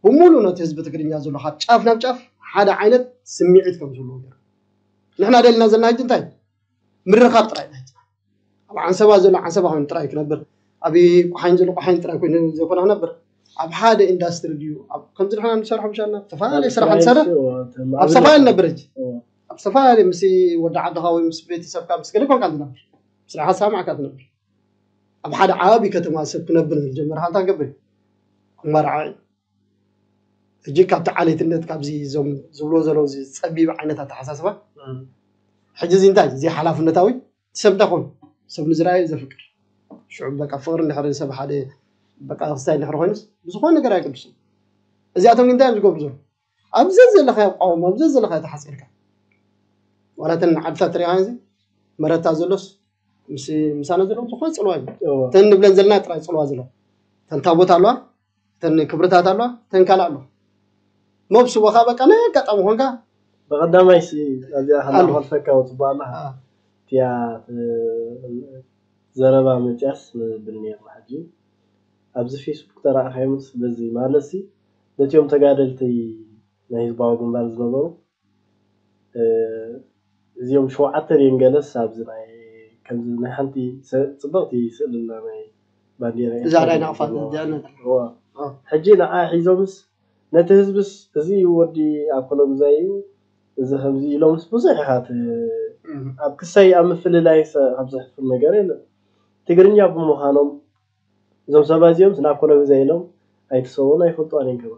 ብምሉእ ነቲ ህዝቢ ትግርኛ ዘሎ ካብ ጫፍ ናብ ጫፍ ሓደ ዓይነት ስምዒት ከም ዘለዎ ገይሩ ንሕና ደልና ዘለና ሕጂ እንታይ ምርኻብ ጥራይ ናይ ኣብ ዓንሰባ ዘሎ ዓንሰባ ኮይኑ ጥራይ ክነብር ኣብ ቋሓኝ ዘሎ ቋሓኝ ጥራይ ኮይኑ ዘይኮነ ክነብር ኣብ ሓደ ኢንዳስትሪ ድዩ ኣብ ከምዚ ንሕና ንሰርሖ ምሻልና ዝተፈላለዩ ስራሕ ንሰርሕ ኣብ ሰፋ ንነብር ሕጂ ኣብ ሰፋ ምስ ወዲ ዓድኻ ወይ ምስ ቤተሰብካ ምስ ገለ ኮንካ ትነብር ስራሓ ሳማዕካ ትነብር ኣብ ሓደ ዓቢ ከተማ ሰብ ክነብር ዝጀመረ ሓንታ ገብር ኣማርዓ እዩ። ሕጂ ካብቲ ዓሌትነት ካብዚ እዞም ዝብሎ ዘለዉ እዚ ጸቢብ ዓይነት ኣተሓሳስባ ሕጂ እዚ እንታይ እዚ ሓላፍነታዊ ሰብ እንታይ ኮይኑ ሰብ ንዝረኣዩ ዘፍቅር ሽዑ በቃ ፍቅሪ እንድሕር ሰብ ሓደ በቃ ክስታይ እንድሕር ኮይኑስ ብዝኾነ ነገር ኣይቅዱስን። እዚኣቶም ግን እንታይ እዮም ዝገብሩ ዘለዉ? ኣብዚ ዘለኻዮ ቃወም ኣብዚ ዘለኻዮ ተሓፂርካ ዋላ እተን ዓድታት ሪኢኻ እዚ መረታ ዘሎስ ምስ ምሳና ዘለዉ ዝኾነ ፅልዋ እዩ። እተን ንብለን ዘለና ጥራይ ፅልዋ ዘለዋ እተን ታቦት ኣለዋ እተን ክብርታት ኣለዋ እተን ካልእ ኣለዋ መብስቦኻ በቃ ናይ ኣጋጣሚ ኮንካ ብቐዳማይ ሲ ኣብዚኣ ከናኸልፈካ ወፅባ ኣለኻ እቲያ ዘረባ መፅያስ ንብል ነርና ሕጂ ኣብዚ ፌስቡክ ተረኣኻዮምስ በዚ ማለት ሲ ነቲኦም ተጋደልቲ ናይ ህዝባዊ ግንባር ዝነበሩ እዚኦም ሸውዓተ ድዮም ገለስ ኣብዚ ናይ ከምዚ ናይ ሓንቲ ጽብቕቲ ስእሊ ኣላ ናይ ባንዴራ እዛ ናይ ናቕፋት እዚኣ ነታ ሕጂ ንዓ ሒዞምስ ነቲ ህዝብስ እዚ እዩ ወዲ ኣኮሎጉዛይ እዩ እዚ ከምዚ ኢሎምስ ብዙሕ ኢኻ ት- ኣብ ክሳይ ኣብ ምፍልላይ ሰ- ካብ ዘሕፍር ነገር የለን ትግርኛ ብምዃኖም እዞም ሰባት እዚኦም ስለ ኣኮሎጉዛይ ኢሎም ኣይትሰውን ኣይፈልጡ ኣነን ከማ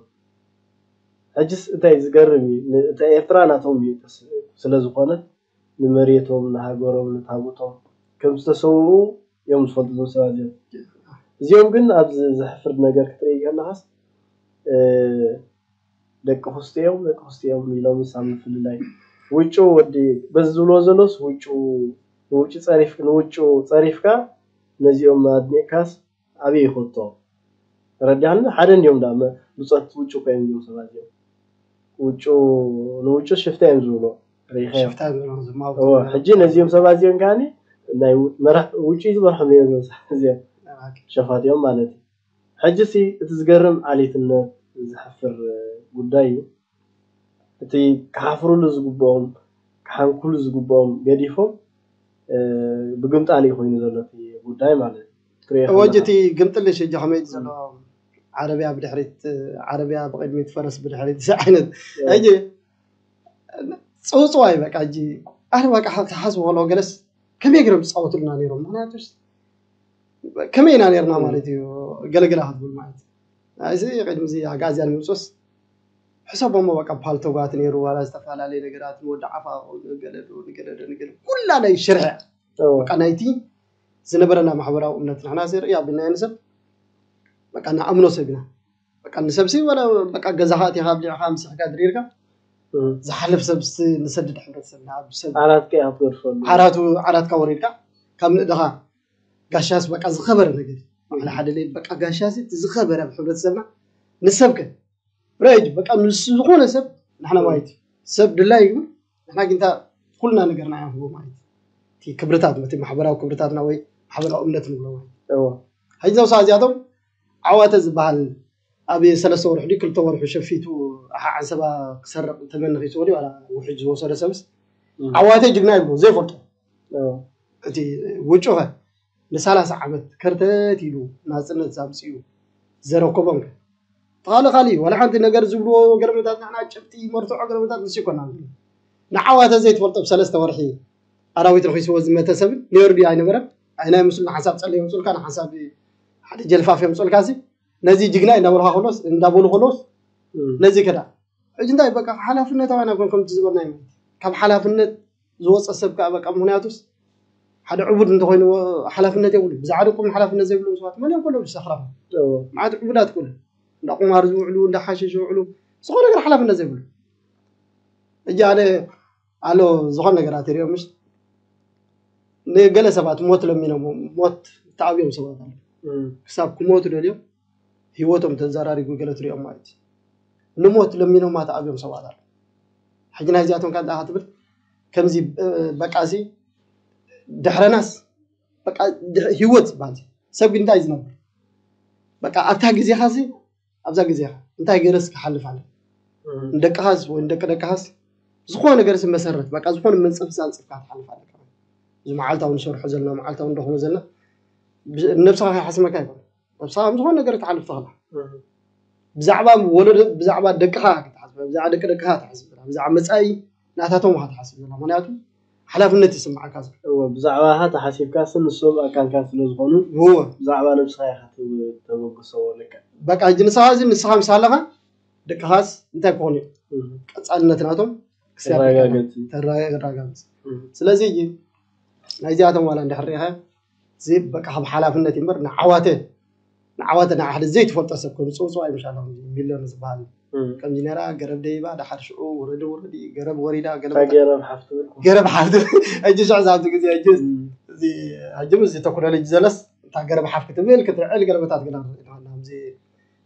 ሕጅስ እንታይ ዝገርም እዩ ን- እታ ኤርትራ ናቶም እዩ ተስ- ስለ ዝኾነ ንመሬቶም ንሃገሮም ንታቦቶም ከም ዝተሰውኡ እዮም ዝፈልጡ እዞም ሰባት እዚኦም እዚኦም ግን ኣብዚ ዘሕፍር ነገር ክትርኢ ከለኻስ እ፣ ደቂ ኩስቲ እዮም ደቂ ኩስቲ እዮም ኢሎም ሳብ ምፍልላይ ውጩ ወዲ በዚ ዝብሎ ዘሎስ ውጩ ንውጩ ጸሪፍ ንውጩ ጸሪፍካ ነዚኦም ኣድኒቅካስ ኣበይ ይኸቶ ረዲኣኒ ሓደ እንዲዮም ዳ ብጾት ውጩ እኮ እዮም ዝብሉ ሰባት እዮም ውጩ ንውጩ ሽፍታ እዮም ዝብሎ ሪኸዮ ሽፍታ ዝብሎም ዝማውቱ እዎ ሕጂ ነዚኦም ሰባት እዚኦም ከዓኒ ናይ መራሕ ውጩ ዝመርሖም እዮም እዞም ሰባት እዚኦም ሸፋት እዮም ማለት እዩ ሕጂ ሲ እቲ ዝገርም ዓሌትነት ዘሕፍር ጉዳይ እዩ እቲ ክሓፍሩሉ ዝግብኦም ክሓንኩሉ ዝግብኦም ገዲፎም ብግምጣል እዩ ኮይኑ ዘሎ እቲ ጉዳይ ማለት እዩ ትሪኦ ወጅ እቲ ግምጥልሽ እጃ ከመይ ዘሎ ዓረብያ ብድሕሪት ዓረብያ ብቅድሚት ፈረስ ብድሕሪት እዚ ዓይነት ሕጂ ፅውፅዋይ በቃ ሕጂ ኣነ በቃ ክሓስቡ ከለዎ ገለስ ከመይ ገይሮም ዝፃወቱልና ነይሮም ምክንያቱ ከመይ ኢና ነርና ማለት እዩ ገለገላ ክትብል ማለት እዚ ቅድሚ እዚ ኣጋዝያን ምውፅስ ሕሰቦሞ በቃ ፓልቶጋት ነይሩ ዋላ ዝተፈላለዩ ነገራት ንወዲ ዓፋ ንገለዶ ንገለዶ ንገለ ኩላ ናይ ሽርሒ በቃ ናይቲ ዝነበረና ማሕበራዊ እምነት ንሕና ሲ ርእያ ብናይ ንሰብ በቃ ንኣምኖ ሰብ ኢና በቃ ንሰብሲ ወላ በቃ ገዛኻ እቲኻ ኣብሊዕኻ ምስሕካ ድሪርካ ዝሓልፍ ሰብ ንሰድድ ሕብረተሰብና ኣብ ሰብ ዓራትካ ኢኻ ትገድፈሉ ዓራቱ ዓራትካ ወሪድካ ካብ ንእድኻ ጋሻስ በቃ ዝኸበረ ነገር እዩ። ባዕሉ ሓደ ለይ በቃ ጋሻስ እቲ ዝኸበረ ኣብ ሕብረተሰብና ንሰብ ከ ረጅ በቃ ንሱ ዝኾነ ሰብ ንሕና ማለት እዩ ሰብ ድላይ ይግብር ንሕና ግንታ ኩልና ነገርና ኢና ንህቦ ማለት እዩ። እቲ ክብርታት እቲ ማሕበራዊ ክብርታትና ወይ ማሕበራዊ እምነት ንብሎ ማለት እዩ። እዎ። ሕጂ ዘውሳ እዚኣቶም ዓዋተ ዝበሃል ኣብ ሰለስተ ወርሒ ድዩ ክልተ ወርሒ ሸፊቱ ኣሓ ዓንሰባ ክሰርቕ ተመኒ ኺስወዲ ዋላ ውሕጅ ዝወሰደ ሰብስ ዓዋተ ጅግና ይብሉ ዘይፈልጦ እቲ ውጩኸ ንሳላሳ ዓመት ከርተት ኢሉ ናፅነት ዛምፅኡ ዘረከቦም ከ ተኻሊ ካሊ ዋላ ሓንቲ ነገር ዝብልዎ ገረመታት ንሕና ጭብጢ መርትዖ ገረመታት ንሱ ይኮና ንዓዋተ ዘይትፈልጦ ብሰለስተ ወርሒ ኣራዊት ረኺስዎ ዝመተ ሰብን ነይሩ ድዩ ኣይነበረን ኣይናይ ምስሉ ንሓንሳብ ፀለ የምፅልካ ንሓንሳብ ሓደ ጀልፋፍ የምፅልካ ሲ ነዚ ጅግና እንዳበልካ ከሎስ እንዳበሉ ከሎስ ነዚ ከዳ ሕጂ እንታይ በቃ ሓላፍነታውያን ኣይኮን ከምቲ ዝበልናዮ ማለት ካብ ሓላፍነት ዝወፀ ሰብ ከዓ በቃ ምክንያቱስ ሓደ ዕቡድ እንተኮይኑ ሓላፍነት የብሉ ብዛዕባ ደቁም ሓላፍነት ዘይብሎም ሰባት መን እዮም ከሎ ዝሰክራም ማለት ዕቡዳት ኩሉ እንዳ ቁማር ዝውዕሉ እንዳ ሓሽሽ ዝውዕሉ ዝኾነ ነገር ሓላፍነት ዘይብሉ ሕጂ ኣነ ኣሎ ዝኾነ ነገራት ይሪኦም ምሽ ንገለ ሰባት ሞት ለሚኖም ሞት ተኣብዮም ሰባት ኣለ ክሳብ ክሞቱ ደልዮም ህይወቶም ተዘራሪጉ ገለ ትሪኦም ማለት እዩ ንሞት ለሚኖማ ተኣብዮም ሰባት ኣለ ሕጂ ናይዚኣቶም ከ ትብል ከምዚ በቃ ሲ ድሕረናስ በቃ ህይወት ዝበሃል ሰብ ግን እንታይ ዝነብር በቃ ኣብታ ግዜኻ ሲ ኣብዛ ግዜኻ እንታይ ገይረስ ክሓልፍ ኣለ ንደቅኻስ ወይ ንደቂ ደቅኻስ ዝኾነ ነገር ሲ መሰረት በቃ ዝኾነ መንፀፍ ሲ ኣንፅፍካ ትሓልፍ ኣለካ እዚ መዓልታዊ ንሰርሖ ዘለና መዓልታዊ ንደኽሞ ዘለና ነብስኻ ከይሓስመካ ይኮነ ነብስኻ ከም ዝኾነ ነገር ትሓልፍ ትኽእላ ብዛዕባ ወለዶ ብዛዕባ ደቅኻ ክትሓስብ ብዛዕባ ደቂ ደቅኻ ትሓስብ ብዛዕባ መፃኢ ናታቶም ኢኻ ትሓስብ ዘላ ምክንያቱ ሓላፍነት ይስምዓካ ዘሎ። እወ፣ ብዛዕባኻ ተሓሲብካ ስን ንሶም ኣካልካ ስለ ዝኾኑ እወ ብዛዕባ ነብስኻ ኢኻ ትብ- ተበግሶ። ልክዕ። በቃ ሕጂ ንስኻ እዚ ንስኻ ምስ ኣለኻ ደቅኻስ እንታይ ክኾኑ እዩ? እህ፣ ቀፃልነት ናቶም ክሳብ ተረጋገጽ። ተረጋገጽ። እህ፣ ስለዚ ሕጂ ናይዚኣቶም ዋላ እንድሕር ርኢኻ እዚ በቃ ካብ ሓላፍነት እዩ እምበር ንዓዋተ ንዓዋተ ንዓ ሓደ ዘይትፈልጦ ሰብ ከም ዝፅውፅው ኣይምሻሎም። ሚልዮን ዝበሃል እህ። ከምዚ ነራ ገረብ ደይባ ድሓር ሽዑ ውረዲ ውረዲ ገረብ ወሪዳ ገለ እታ ገረብ ሓፍቲ ብልኩ። ገረብ ሓፍቲ ሕጂ ሽዑ ዛብቲ ግዜ ሕጂ እህ፣ እዚ ሕጂ ምስ ቴክኖሎጂ ዘለስ እታ ገረብ ሓፍ ክትብል ክትርዕል ገረበታት ገና ንርኢ ኣለና። ከምዚ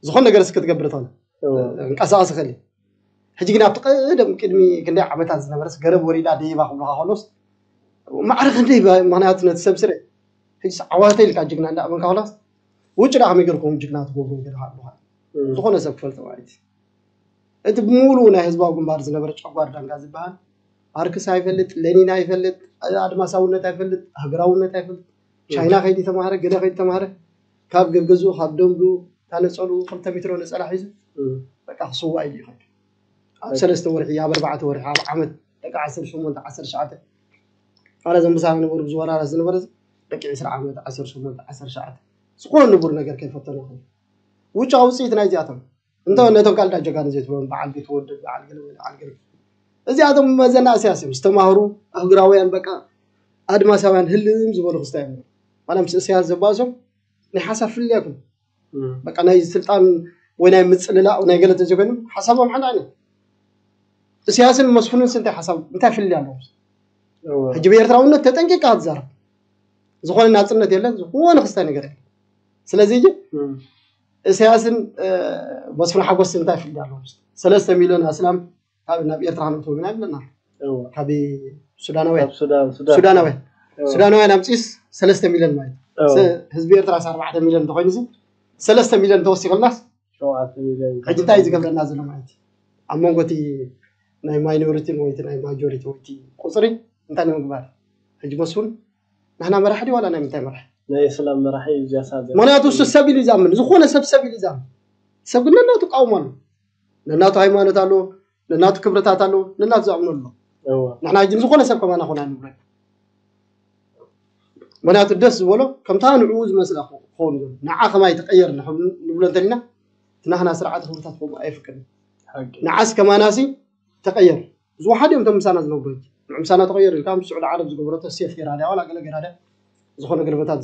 ዝኾነ ነገር እስኪ ክትገብር ትኽእል እወ። እንቀሳቐስ ይኽእል እዩ። ሕጂ ግን ኣብቲ ቀደም ቅድሚ ክንደይ ዓመታት ዝነበረስ ገረብ ወሪዳ ደይባ ክብሉካ ከሎስ ማዕረ ክንደይ ባ- ምኽንያቱ ነቲ ሰብ ስረ ሕጂ ዓዋተ ኢልካ ጅግና እንዳኣመንካ ከሎስ ውጭ ዳ ከመይ ገርኩም ጅግና ትገብሩ ገለ ኣለኻ እህ፣ ዝኾነ ሰብ ክፈልጦ ማለት እዩ። እቲ ብምሉኡ ናይ ህዝባዊ ግንባር ዝነበረ ጨጓር ዳንጋ ዝበሃል ማርክስ ኣይፈልጥ፣ ሌኒን ኣይፈልጥ፣ ኣድማሳውነት ኣይፈልጥ፣ ሃገራውነት ኣይፈልጥ። ቻይና ከይዲ ተማሃረ፣ ገለ ከይዲ ተማሃረ፣ ካብ ገገዝኡ ካብ ደንጉ ታነፀሉ ክልተ ሜትሮ ነፀላ ሒዙ እህ፣ በቃ ክስዋእ ኢሉ ይኸድ። ኣብ ሰለስተ ወርሒ ኣብ ኣርባዕተ ወርሒ ኣብ ዓመት ደቂ ዓሰርተ ሸሞንተ ዓሰርተ ትሽዓተ ኣረ ዘምብሳና ነበሩ ብዙ ወራራት ዝነበረ ደቂ ዕስራ ዓመት ዓሰርተ ሸሞንተ ዓሰርተ ትሽዓተ ዝኾነ ንቡር ነገር ከይፈተኑ ይኸዱ። ውጫ ውፅኢት ናይዚኣቶም እንተ ነቶም ካልዳ ጀጋኑ ዘይትብሎም በዓል ቤት ወደድ በዓል ገለ በዓል ገለ እዚኣቶም መዘና እስያስ እዮም ዝተማህሩ ኣህግራውያን በቃ ኣድማሳውያን ህልም ዝበሉ ክስታይ እዮም። ዋላ ምስ እስያስ ዘባእሶም ናይ ሓሳብ ፍልልያኩም እህ፣ በቃ ናይ ስልጣን ወይ ናይ ምፅልላእ ናይ ገለ ተዘይኮይኑ ሓሳቦም ሓደ ዓይነት። እስያስን መስፍንን እንታይ ሓሳብ እንታይ ፍልልያ ኣለዎም? እወ። ሕጂ ብኤርትራውነት ተጠንቂቃ ትዛረብ ዝኾነ ናፅነት የለን፣ ዝኾነ ክስታይ ነገር የለን። ስለዚ ሕጂ እህ፣ እስያስን እ፣ መስፍን ሓጎስ እንታይ ፍልልያ ኣለዎም? ሰለስተ ሚልዮን ኣስላም ካብ ናብ ኤርትራ ክንእትዎ ግና ይብለና እወ። ካብ ሱዳናውያን ካብ ሱዳን ሱዳን ሱዳናውያን እወ። ሱዳናውያን ኣምፂስ ሰለስተ ሚልዮን ማለት እዩ። እወ። ሰ- ህዝቢ ኤርትራ ኣርባዕተ ሚልዮን እንተኮይኑ እዚ ሰለስተ ሚልዮን ተወሲኸልናስ ሸውዓተ ሚልዮን። ሕጂ እንታይ እዩ ዝገብረና ዘሎ ማለት እዩ? ኣብ መንጎ እቲ ናይ ማይኖሪቲ ወይ እቲ ናይ ማጆሪቲ ወይ እቲ ቁፅሪ እንታይ ንምግባር? ሕጂ መስፍን ንሕና መራሒ ድዩ ዋላ ናይ ምንታይ መራሒ? ናይ እስላም መራሒ እዩ እዚኣ ሳብ ምክንያቱ እሱ ሰብ ኢሉ ይዛምን፣ ዝኾነ ሰብ ሰብ ኢሉ ይዛምን። ሰብ ግን ነናቱ ቃውሞ ኣሎ፣ ነናቱ ሃይማኖት ኣሎ፣ ነናቱ ክብርታት ኣሎ፣ ነናቱ ዝኣምኖ ኣሎ። እወ። ንሕና ሕጂ ዝኾነ ሰብ ከማና ኾና ንብሎ። ምክንያቱ ደስ ዝበሎ ከምታ ንዕኡ ዝመስላ ክኸውን ዘሎ ንዓ ከማይ ተቀየር ንብሎ እንተሊና እቲ ናህና ስርዓት ክብርታት ከምኡ ኣይፍቅድን። ሓቂ። ንዓስ ከማናሲ ተቀየር ዝወሓድ እዮም እቶም ምሳና ዝነብሩ። ንዑ ምሳና ተቀየር ኢልካ ምስ ስዑዲ ዓረብ ዝገበረቶ ሴፍ ገይራ ድያ ዋላ ገለ ገይራ ድያ ዝኾነ ገለመታት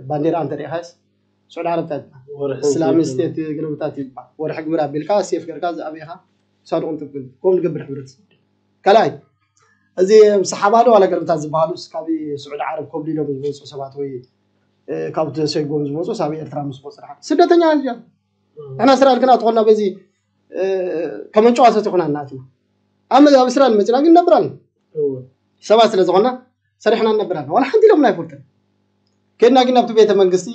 ባንዴራ እንተሪኢኻስ ስዑዲ ዓረብ እንታይ ትበሃል? ወርሒ እስላሚክ እንትን ስቴት ገለመታት ይበሃል። ወርሒ ግብር ኣቢልካ ሴፍ ገይርካ ዝኣበኻ ክሳብ ንቕንጥብ ግን ከምኡ ንገብር ሕብረተሰብ። ካልኣይ እዚ ሰሓባ ዶ ዋላ ገለመታት ዝበሃሉ ካብ ስዑዲ ዓረብ ኮብሊሎም ዝመፁ ሰባት ወይ ካብቲ ሰይጎም ዝመፁ ሳብ ኤርትራ ምስ መፁ ስደተኛ እዮም። ንሕና ስራ ልክና ተኾና በዚ ከመንጨዋ ሰቲኹና እናትና ኣብ ኣብ ስራ ንመፅና ግን ነብራል ሰባት ስለ ዝኾና ሰሪሕና ነብራል ዋላ ሓንቲ ኢሎም ኣይፈልጥን። ከድና ግን ኣብቲ ቤተ መንግስቲ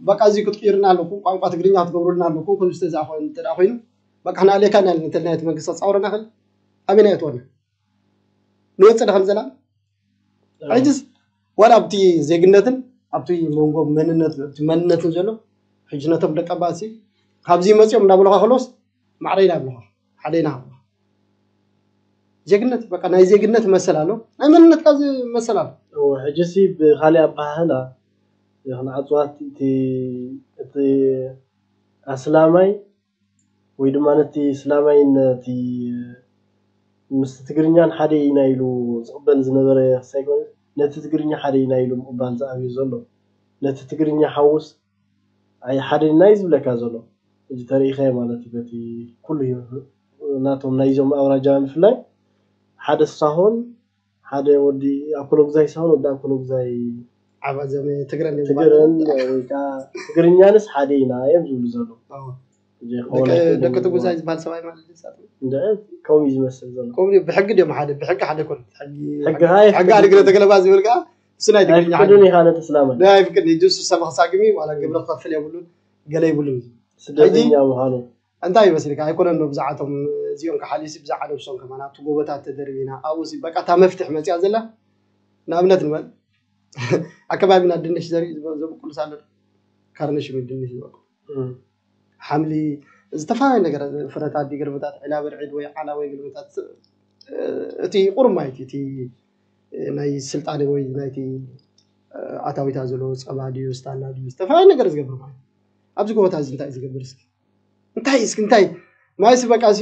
በቃ እዚ ክትቅይርና ኣለኩም፣ ቋንቋ ትግርኛ ክትገብሩልና ኣለኩም፣ ከምዚ ተዛ ኮይኑ እንተ ኮይኑ በቃ ሕና ኣሌካ ኢና እንተልና እቲ መንግስቲ ኣፃውረና ክል ኣበና እትወና ንወፅእ ዶ ከም ዘላ ሕጅስ ዋላ ኣብቲ ዜግነትን ኣብቲ መንጎ መንነት ኣብቲ መንነትን ዘሎ ሕጂ ነቶም ደቂ ኣባሲ ካብዚ መፅኦም እንዳበለኻ ከሎስ ማዕረ ኢና ብለኻ ሓደ ኢና ብለኻ ዜግነት በቃ ናይ ዜግነት መሰል ኣሎ ናይ መንነትካ መሰል ኣሎ ሕጂ ሲ ብካሊእ ኣባሃህላ ክንዓፅዋ እቲ እቲ ኣስላማይ ወይ ድማ ነቲ እስላማይ ነቲ ምስ ትግርኛን ሓደ ኢና ኢሉ ዝቕበል ዝነበረ ሳይኮን ነቲ ትግርኛ ሓደ ኢና ኢሉ ምቕባል ዝኣብዩ ዘሎ ነቲ ትግርኛ ሓውስ ኣይ ሓደ ኢና እዩ ዝብለካ ዘሎ እዚ ተሪኢኸ ማለት እዩ በቲ ኩሉ ናቶም ናይዞም ኣውራጃ ምፍላይ ሓደ ሳሆን ሓደ ወዲ ኣኮሎግዛይ ሳሆን ወዲ ኣኮሎግዛይ ዓባዘመ ትግረን ትግረን ወይ ከዓ ትግርኛንስ ሓደ ኢና እዮም ዝብሉ ዘሎ ደቂ ትጉዛይ ዝበሃል ሰብኣይ ማለት ከምኡ እዩ ዝመስል ዘሎ ከምኡ ብሕጊ ድዮም ሓደ ብሕጊ ሓደ ኮን ሕጊ ሕጊ ኣድግረ ተገለባ ዝብል ከዓ እሱ ናይ ትግርኛ ኣይፍቅድን ኢኻ ነተስላመ ኣይፍቅድ ጅሱ ሰብ ክሳግሚ ዋላ ግብረ ክኸፍል የብሉን ገለ ይብሉን ስደተኛ ምዃኑ እንታይ ይመስልካ ኣይኮነን ብዛዕቶም እዚኦም ክሓሊሲ ብዛዕባ ነብሶም ከማን ኣብቲ ጎቦታት ተደርቢና ኣብኡ በቃ እታ መፍትሕ መፅያ ዘላ ንኣብነት ንበል ኣከባቢና ድንሽ ዘርኢ ዘብቁልስ ኣሎ ካርነሽ ድንሽ ዝበቁል ሓምሊ ዝተፈላለዩ ነገር ፍረታት ዲግርብታት ዕላበርዒድ ወይ ዓላ ወይ ግርብታት እቲ ቁሩብ ማለት እዩ እቲ ናይ ስልጣነ ወይ ናይቲ ኣታዊታ ዘሎ ጸባ ድዩ ስታላ ድዩ ዝተፈላለዩ ነገር ዝገብር ማለት ኣብዚ ጎቦታት እዚ እንታይ ዝገብር እስኪ እንታይ እስኪ እንታይ ማይስ በቃ ሲ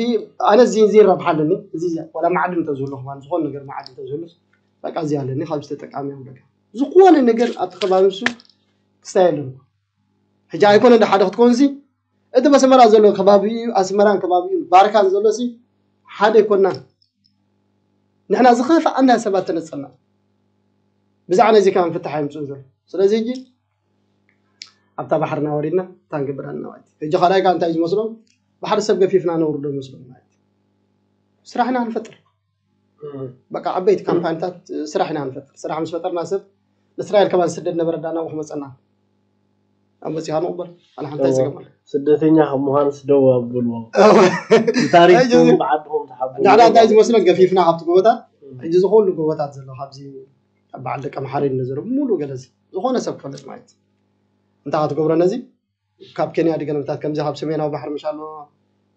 ኣነ እዚ እዚ ይረብሓለኒ እዚ ዋላ ማዕድን እንተዝህሉ ከማን ዝኾነ ነገር ማዕድን እንተዝህሉ በቃ እዚ ኣለኒ ካብ ዝተጠቃሚ እዮም በቃ ዝኾነ ነገር ኣብቲ ከባቢ ንሱ ክስታይ ኣለኒ ሕጂ ኣይኮነ እንደ ሓደ ክትኮንሲ እቲ በስመራ ዘሎ ከባቢ ኣስመራን ከባቢ ባርካን ዘሎ ሲ ሓደ ይኮናን ንሕና ዝኸፍኣና ሰባት ተነጸና ብዛዕ ነዚ ከ ንፍትሕ ኣይምፅኡ ዘሎ ስለዚ ሕጂ ኣብታ ባሕርና ወሪድና እታ ንገብር ኣለና ማለት እዩ ሕጂ ካልኣይ ከዓ እንታይ እዩ ዝመስሎም ባሕሪ ሰብ ገፊፍና ነውርዶ ይመስሎም ማለት እዩ ስራሕና ንፈጥር በቃ ዓበይቲ ካምፓኒታት ስራሕ ኢና ንፈጥር ስራሕ ምስ ፈጠርና ሰብ ንእስራኤል ከማን ስደድ ነበረ ዳና ክመፀና ኣብ መፂኻ ንቕበል ኣነ ሓንታይ ዝገባል ስደተኛ ካብ ምዃንስ ደው ኣብልዎ ብታሪኽኩም ብዓድኹም ተሓብኡ ንሕና እንታይ ዝመስለን ገፊፍና ካብቲ ጎቦታት ሕጂ ዝኮሉ ጎቦታት ዘሎ ካብዚ ኣብ በዓል ደቂ ኣምሓረ እዩ ዘሎ ሙሉ ገለዚ ዝኾነ ሰብ ክፈልጥ ማለት እንታይ ክትገብሮ ነዚ ካብ ኬንያ ድገለምታት ከምዚ ካብ ሰሜናዊ ባሕሪ ምሻሎ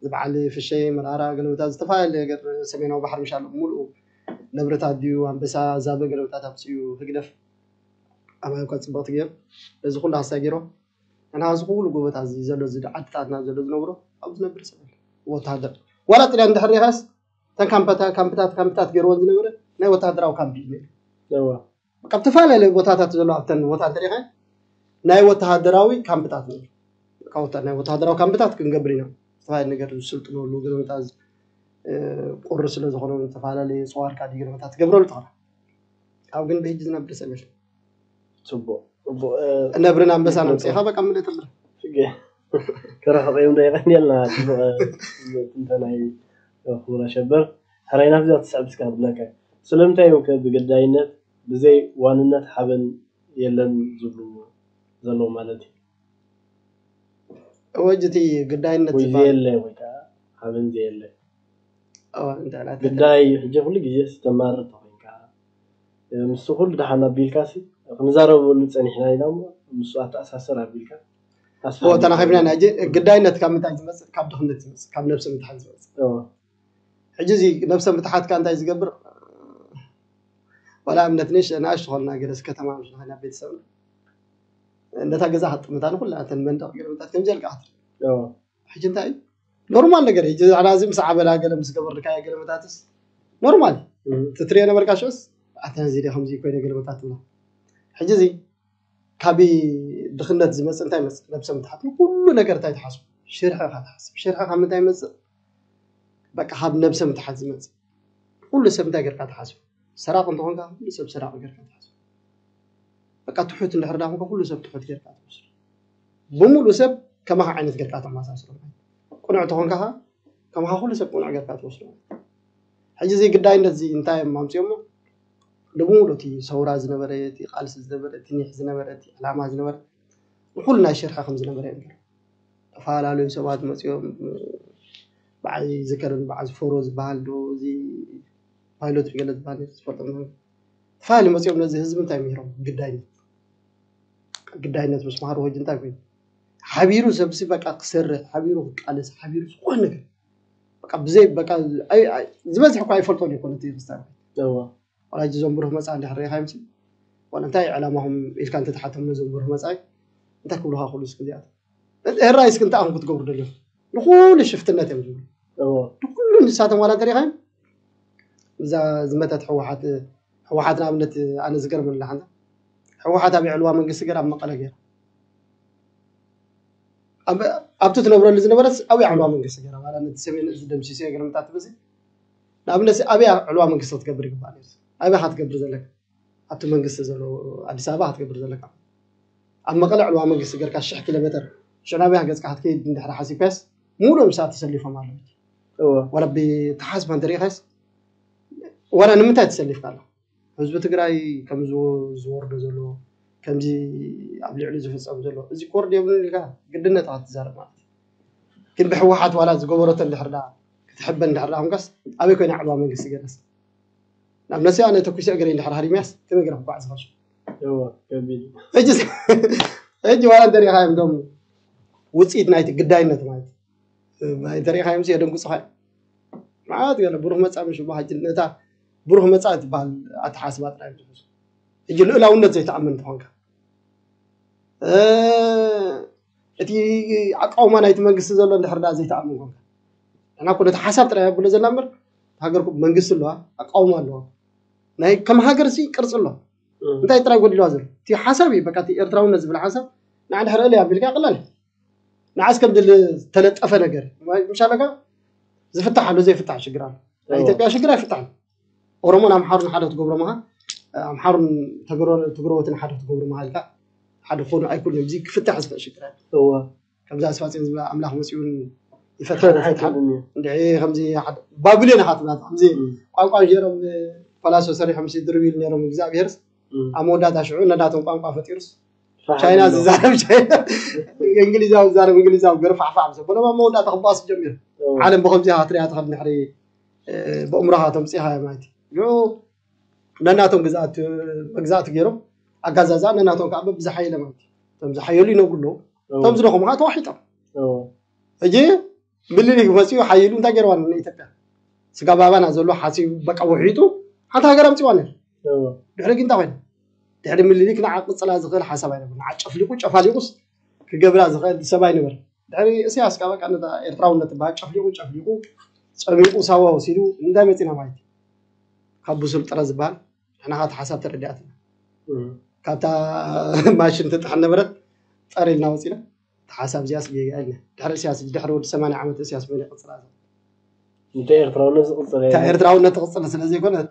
ዝበዓል ፍሸይ መርኣራ ገለምታት ዝተፈላለዩ ገር ሰሜናዊ ባሕሪ ምሻሎ ሙሉኡ ነብርታት ድዩ ኣንበሳ ዛበ ገለምታት ኣብፅኡ ህግደፍ ኣባይ እኳ ፅብቕቲ ገይሩ እዚ ኩሉ ሃስታ ገይሮ ንሕና እዚ ኩሉ ጎቦታት እዚ ዘሎ እዚ ዓድታትና ዘሎ ዝነብሮ ኣብ ዝነብር ሰብ ወታሃደር ዋላ ጥልያን ድሕር ሪኻስ እተን ካምፕታት ካምፕታት ካምፕታት ገይርወን ዝነበረ ናይ ወታሃደራዊ ካምፕ እዩ ነይሩ ካብ ዝተፈላለዩ ቦታታት ዘሎ ኣብተን ቦታ እንተሪኻ ናይ ወታሃደራዊ ካምፕታት ነይሩ ናይ ወታሃደራዊ ካምፕታት ክንገብር ኢና ዝተፈላለዩ ነገር ዝስልጥነሉ ገለመታት ቁሪ ስለ ዝኾነ ዝተፈላለዩ ፀዋርካ ገለመታት ትገብረሉ ትኽእል ኣብ ግን ብሕጂ ዝነብር ሰብ የለን ፅቡቅ ነብርን ኣንበሳን ኣምፅኢኻ በቃ ምልእ ትብል ከረሕቀዮም ዶ የቀንየልና ትንተናይ ክቡር ኣሸበር ሕራይ ናብዚኣ ትስዕብ እስካ ክብለካ ስለምንታይ እዮም ከ ብግዳይነት ብዘይ ዋንነት ሓበን የለን ዝብሉ ዘለዉ ማለት እዩ ወጅ እቲ ግዳይነት ወይ ዝበሃል ዘየለ ወይ ከዓ ሓበን ዘየለ ኣዋ እንታይ ናተ ግዳይ ሕጂ ኩሉ ግዜ ተማርር ተኮይንካ ምስ ኩሉ ደሓን ኣቢልካ ሲ ክንዛረበሉ ፀኒሕና ኢና እሞ ምስ ኣተኣሳሰር ኣቢልካ ኣስፋ ኦ ተራኺብና ኢና ሕጂ ግዳይነት ካብ ምንታይ ዝመፅእ ካብ ድኽነት ዝመፅእ ካብ ነብሲ ምትሓት ዝመፅእ እዎ። ሕጂ እዚ ነብሰ ምትሓትካ እንታይ ዝገብር ዋላ እምነት ንሽ ናሽ ዝኾንና ገለስ ከተማ ምስ ንኸና ቤተሰብ ነታ ገዛ ክትጥምታ ንኩላ እተን መንደቕ ገለመታት ከምዚ ኣልካ ክትርኢ እዎ። ሕጂ እንታይ እዩ ኖርማል ነገር እዩ። ሕጂ ዛዕባ እዚ ምስ ዓበላ ገለ ምስ ገበርካዮ ገለመታትስ ኖርማል እዩ። እም። ትትሪኦ ነበርካ ሽዑስ ኣታ እዚ ደ ከምዚ ኮይነ ገለመታት ትብላ። ሕጂ እዚ ካብ ድኽነት ዝመፅእ እንታይ ይመፅእ? ነብሰ ምትሓት ንኩሉ ነገር እንታይ ትሓስቡ? ሽርሒ ኢኻ ትሓስብ። ሽርሒ ካብ ምንታይ ይመፅእ? በቃ ካብ ነብሰ ምትሓት ዝመፅእ። ኩሉ ሰብ እንታይ ጌርካ ትሓስቡ? ሰራቂ እንተኾንካ ኩሉ ሰብ ሰራቂ ጌርካ ትሓስቡ። በቃ ትሑት እንድሕር ዳ ኮንካ ኩሉ ሰብ ትሑት ጌርካ ትወስዶ። ብምሉእ ሰብ ከማኻ ዓይነት ጌርካ ተመሳስሎ ማለት እዩ። ቅኑዕ ተኾንካ ኸዓ ከማኻ ኩሉ ሰብ ቅኑዕ ጌርካ ትወስዶ ማለት እዩ። ሕጂ እዚ ግዳይነት እዚ እንታይ እዮም ኣምፅኦሞ? ንብምሉእ እቲ ሰውራ ዝነበረ፣ እቲ ቃልሲ ዝነበረ፣ እቲ ኒሕ ዝነበረ፣ እቲ ዕላማ ዝነበረ ንኩሉ ናይ ሽርሒ ከም ዝነበረ እዮም ገይሮም። ዝተፈላለዩ ሰባት መፂኦም በዓል ዝከርን በዓል ዝፈሮ ዝበሃል ዶ እዚ ፓይሎት ገለ ዝበሃል ዝፈልጦም ተፋሊ መፂኦም ነዚ ህዝቢ እንታይ ምሂሮም ግዳይነት ግዳይነት ምስ መሃሩ ሕጂ እንታይ ኮይኑ ሓቢሩ ሰብሲ በቃ ክሰርሕ ሓቢሩ ክቃለስ ሓቢሩ ዝኾነ ነገር በቃ ብዘይ በቃ ዝበዝሕ እኳ ኣይፈልጦን ይኮነ እቲ ክስታይ ዋላ ሕጂ እዞም ብሩህ መፃ እንድሕር ሪኢኻ ይምሲ ዋላ እንታይ ዕላማኹም ኢልካ እንተተሓቶም ነዞም ብሩህ መፃ እንታይ ክብሉኻ ክሉ እስኪ እዚኣቶም ሕራይ እስኪ እንታይ ኣኹም ክትገብሩ ደሊኹም ንኩሉ ሽፍትነት እዮም ዝብሉ ንኩሉ ንሳቶም ዋላ እንተሪኢኻ እዛ ዝመተት ህወሓት ህወሓት ንኣብነት ኣነ ዝገርመኒ ሓንታ ህወሓት ኣብ ዕልዋ መንግስቲ ገር ኣብ መቐለ ገይራ ኣብቲ ትነብረሉ ዝነበረት ኣብይ ዓልዋ መንግስቲ ገይራ ማለት ነቲ ሰሜን እዚ ደምሲሶ ገርምታት ትበዚ ንኣብነት ኣብይ ዕልዋ መንግስቲ ክትገብር ይግባእ ነርስ ኣብይ ክትገብር ዘለካ ኣብቲ መንግስቲ ዘሎ ኣዲስ ኣበባ ክትገብር ዘለካ ኣብ መቐለ ዕልዋ መንግስቲ ገርካ ሽሕ ኪሎ ሜትር ሽዑ ናበይ ገፅካ ክትከይድ እንድሕር ሓሲብካስ ሙሉእ ምሳት ተሰሊፎም ኣለዉ ወላ ብተሓስባ እንተሪኢኻስ ዋላ ንምንታይ ተሰሊፍካ ኣላ ህዝቢ ትግራይ ከም ዝወርዶ ዘሎ ከምዚ ኣብ ልዕሊ ዝፍፀም ዘሎ እዚ ኮርድ የብሉን ኢልካ ግድነት ክትዛረብ ማለት ግን ብሕወሓት ዋላ ዝገበረቶ እንድሕር ዳ ክትሕበን እንድሕር ዳ ኮንካስ ኣበይ ኮይና ዕልዋ መንግስቲ ገለስ ናብ ነሲ ኣነ ተኩሲ እግረይ እንድሕር ሃሪምያስ ከመይ ገረ ክጓዕ ዝኸሽ ሕጂ ዋላ እንተሪኢኻ እዮም ዶም ውፅኢት ናይቲ ግዳይነት ማለት እንተሪኢኻ እዮም የደንጉፅኻ ማለት ገለ ብሩክ መፃ ምሽ በሃጅ ነታ ብሩህ መጻኢ ትበሃል ኣተሓስባ ጥራይ ትሕዝ። ሕጂ ልኡላውነት ዘይተኣምን እንተኾንካ እቲ ኣቃውማ ናይቲ መንግስቲ ዘሎ እንድሕር ዳ ዘይተኣምን ኮንካ፣ ንሕና እኮ ነቲ ሓሳብ ጥራይ ኣብሎ ዘለና እምበር፣ ሃገርኩም መንግስቲ ኣለዋ፣ ኣቃውማ ኣለዋ፣ ናይ ከም ሃገር ሲ ቅርፂ ኣለዋ። እንታይ ጥራይ ጎዲልዋ ዘሎ? እቲ ሓሳብ እዩ። በቃ እቲ ኤርትራውነት ዝብል ሓሳብ ንዓ ድሕሪ እለ ኣቢልካ ቅላል እዩ። ንዓስ ከም ድል ዝተለጠፈ ነገር ምሻለካ ዝፍታሕ ኣሎ ዘይፍታሕ ሽግር ኣሎ። ናይ ኢትዮጵያ ሽግር ኣይፍታሕን። ኦሮሞን ኣምሓሩን ሓደ ክትገብሮም ኢኻ፣ ኣምሓሩን ትግረዎትን ሓደ ክትገብሮም ኢኻ ኢልካ ሓደ ክኾኑ ኣይክእሉን እዮም። እዚ ክፍታሕ ዝኽእል ሽግር ኣሎ። ከምዛ ኣስፋጽዮን ዝብላ ኣምላኽ መጺኡን ይፈትሓ ይፈትሓ ይፈትሓ። እንድዒ ከምዚ ሓደ ባቢሎን ኢኻ ትብላ። ከምዚ ቋንቋ ጌሮም ፈላሶ ሰሪሖም ሲ ድርቢል ነይሮም እግዚኣብሄርስ ኣብ መወዳእታ ሽዑ ነዳቶም ቋንቋ ፈጢሩስ ቻይና ዝዛረብ ቻይና፣ እንግሊዛዊ ዝዛረብ እንግሊዛዊ ገርፋሕፋሕ ምስ ኣበሎም ኣብ መወዳእታ ክባኣሱ ጀሚሩ። ዓለም ብኸምዚኣ ክትሪኣ ትኽእል ድሕሪ ብእምሮኻ ተምፅኢኻ ማለት እዩ። ነናቶም ግዛእቲ መግዛእቲ ገይሮም ኣጋዛዛ ነናቶም ከዓ በብዝሓየለ ማለት እዩ። እቶም ዝሓየሉ ይነብሩ ኣለዉ። እቶም ዝደኸሙ ከዓ ተዋሒጦም። ሕጂ ምልሊክ መፅኡ ሓይሉ እንታይ ገይርዋ ንኢትዮጵያ? ስጋ ባባና ዘሎ ሓፂቡ በቃ ውሒጡ ሓንቲ ሃገር ኣምፅዋ ነር። ድሕሪ ግን እንታይ ኮይኑ? ድሕሪ ምልሊክ ንዓ ቅፅላ ዝኽእል ሓሳብ ኣይነበር። ንዓ ጨፍሊቁ ጨፋሊቁስ ክገብራ ዝኽእል ሰብ ኣይነበር። ድሕሪ እስያስ ከዓ በቃ ነታ ኤርትራውነት ትበሃል ጨፍሊቁ ጨፍሊቁ ጸሚቁ ሳዋ ወሲዱ እንታይ መፂና ማለት እዩ? ካብ ብሱል ጥረ ዝበሃል ንሕና ከዓ እቲ ሓሳብ ተረዲኣትና ካብታ ማሽን ትጥሕን ነበረት ጠር ኢልና ወፂና እቲ ሓሳብ እዚኣስ ጌጋ ኢልና ድሕሪ እስያስ ድሕሪ ወዲ ሰማንያ ዓመት እስያስ መን ይቕፅላ እታ ኤርትራውነት ዝቕፅል እታ የለን። ኤርትራውነት ትቕፅል ስለ ዘይኮነት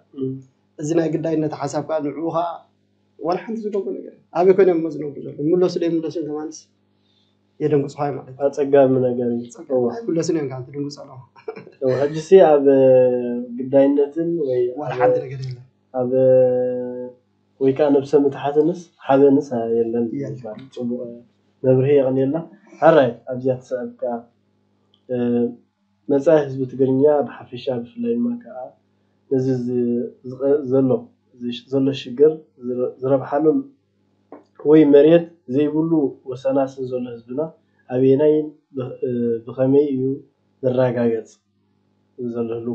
እዚ ናይ ግዳይነት ሓሳብ ከዓ ንዕኡ ከዓ ዋላ ሓንቲ ዝገብሮ ነገር ኣበይ ኮይኖም እሞ ዝነብሩ ዘሎ ይምለሱ ዶ ይምለሱ ከማንስ የደንግፅኻ ማለት እዩ። ኣፀጋሚ ነገር እዩ። ፀጋሚ ኣይምለሱን እዮም ካብ ትድንግፅ ኣለኹ። ሕጂ ሲ ኣብ ግዳይነትን ወይ ዋላ ሓንቲ ነገር የለን። ኣብ ወይ ከዓ ነብሰ ምትሓትንስ ሓበንስ የለን ይባል። ፅቡቅ መብርሂ የቕንየልና። ሓራይ ኣብዚኣ ትስዕብ ከዓ መፃኢ ህዝቢ ትግርኛ ብሓፈሻ ብፍላይ ድማ ከዓ ነዚ ዘሎ ዘሎ ሽግር ዝረብሓሉ ወይ መሬት ዘይብሉ ወሰናስን ዘሎ ህዝብና ኣበየናይን ብኸመይ እዩ ዝረጋገፅ ዘሎ ህሉ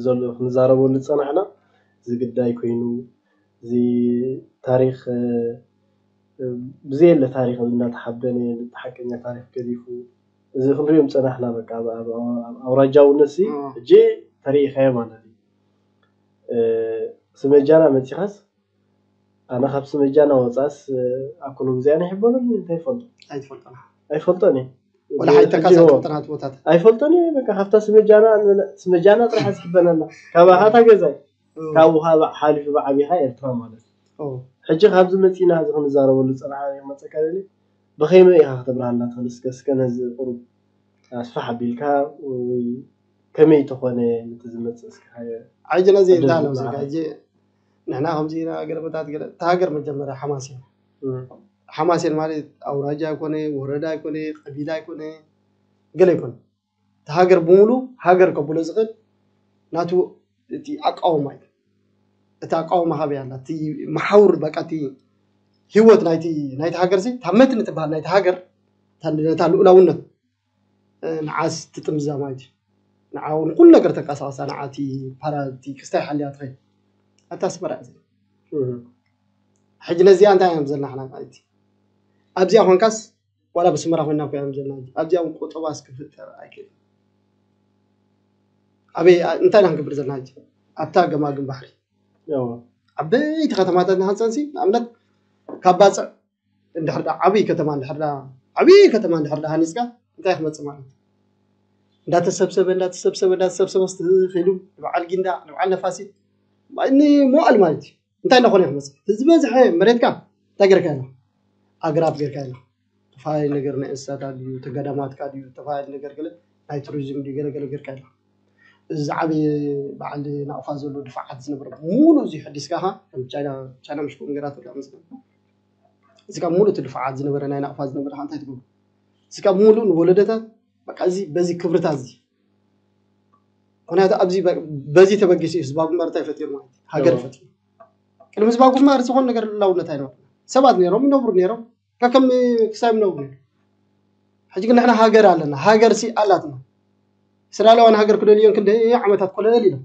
ዘሎ ክንዛረበሉ ዝፀናሕና እዚ ግዳይ ኮይኑ እዚ ታሪክ ብዘየለ ታሪክ እናተሓበነ ሓቀኛ ታሪክ ገዲፉ እዚ ክንሪኦም ፀናሕና በቃ ኣውራጃውነት ሲ ሕጂ ተሪኢኻዮ ማለት እዩ። ስመጃና መፂኻስ ኣነ ካብ ስመጃና ወፃስ ኣኮሎ ግዜና ይሕበረሉ እንታይ ይፈልጦ ኣይትፈልጦና ኣይፈልጦን እየ ወላ ሓይተካ ሕጂ ዘፈልጠናት ቦታት ኣይፈልጦን እየ በቃ ካብታ ስመጃና ስመጃና ጥራሕ ዝሕበነና ካባኻታ ገዛይ ካብኡ ካብ ሓሊፉ ብዓቢኻ ኤርትራ ማለት እዩ ሕጂ ካብዚ መፂና እዚ ክንዛረበሉ ፀናሓ መፀካ ደሊ ብኸመይ ኢኻ ከተብርሃልና ትኽእል እስከ እስከ ነዚ ቁሩብ ኣስፋሕ ኣቢልካ ወይ ከመይ ተኾነ ነቲ ዝመፅእ እስከ ሓየ ሕጂ ነዚ እንታይ ኣሎ ዝካ ሕጂ ንሕና ከምዚ ኢና ገለመታት ገለ እታ ሃገር መጀመርያ ሓማስ እያ ሓማሴን ማለት ኣውራጃ ኣይኮነ ወረዳ ኣይኮነ ቀቢላ ኣይኮነ ገለ ኣይኮነ እቲ ሃገር ብምሉ ሃገር ከብሎ ዝኽእል ናቱ እቲ ኣቃውማ እዩ እቲ ኣቃውማ ካበይ ኣላ እቲ መሓውር በቃ እቲ ህይወት ናይቲ ናይቲ ሃገር ሲ ታመትን ትበሃል ናይቲ ሃገር ነታ ልኡላውነት ንዓስ ትጥምዛ ማለት እዩ ንዓ ንኩሉ ነገር ተንቀሳቀሳ ንዓ እቲ ፓራ እቲ ክስታይ ሓልያ ትኸይድ ኣታ ኣስመራ እዚ ሕጂ ነዚኣ እንታይ እዮም ዘለና ሓና ማለት ኣብዚኣ ኮንካስ ዋላ ብስመራ ኮይና ኮ እዮም ዘለና ኣብዚኣ እውን ቆጠባስ ክፍጠር ኣይክእል ኣበይ እንታይ ኢና ክንገብር ዘለና ኣብታ ገማግም ባሕሪ ዓበይቲ ከተማታት ንሃንፀንሲ ንኣብነት ካብ ባፅዕ እንድሕር ዳ ዓብይ ከተማ እንድሕር ዳ ዓብይ ከተማ እንድሕር ዳ ሃኒፅካ እንታይ ክመፅእ ማለት እንዳተሰብሰበ እንዳተሰብሰበ እንዳተሰብሰበ ስትኽኢሉ ንበዓል ጊንዳ ንበዓል ነፋሲት ንመዋእል ማለት እዩ እንታይ እንዳኾነ ክመፅእ ዝበዝሐ መሬትካ እንታይ ገርካ ኢኻ ኣግራብ ገርካ ኢኻ ተፈላለየ ነገር ናይ እንስሳታት ድዩ ተገዳማትካ ድዩ ተፈላለየ ነገር ገለ ናይ ቱሪዝም ድዩ ገለ ገለ ገርካ ኢኻ እዚ ዝዓበየ በዓል ናቕፋ ዘሎ ድፋዓት ዝነበረ ሙሉ እዚ ሕዲስካ ኻ ከም ቻይና ቻይና ምሽ ከምኡ ገይራቶ ድኣ መስለኒ እዚ ካብ ሙሉ እቲ ድፋዓት ዝነበረ ናይ ናቕፋ ዝነበረ ኻ እንታይ ትገብሩ እዚ ካብ ሙሉ ንወለደታት በቃ እዚ በዚ ክብርታት እዚ ምክንያቱ ኣብዚ በዚ ተበጊሱ እዩ ህዝባዊ ግንባር እንታይ ፈጢሩ ማለት እዩ ሃገር ፈጢሩ ቅድሚ ህዝባዊ ግንባር ዝኾነ ነገር ልላውነት ኣይነበረ ሰባት ነይሮም ይነብሩ ነይሮም ከከም ክሳብ ይነብሩ ነይሮም ሕጂ ግን ንሕና ሃገር ኣለና ሃገር ሲ ኣላትና እስራኤላውያን ሃገር ክደልዮን ክንደ ዓመታት ኮለል ኢሎም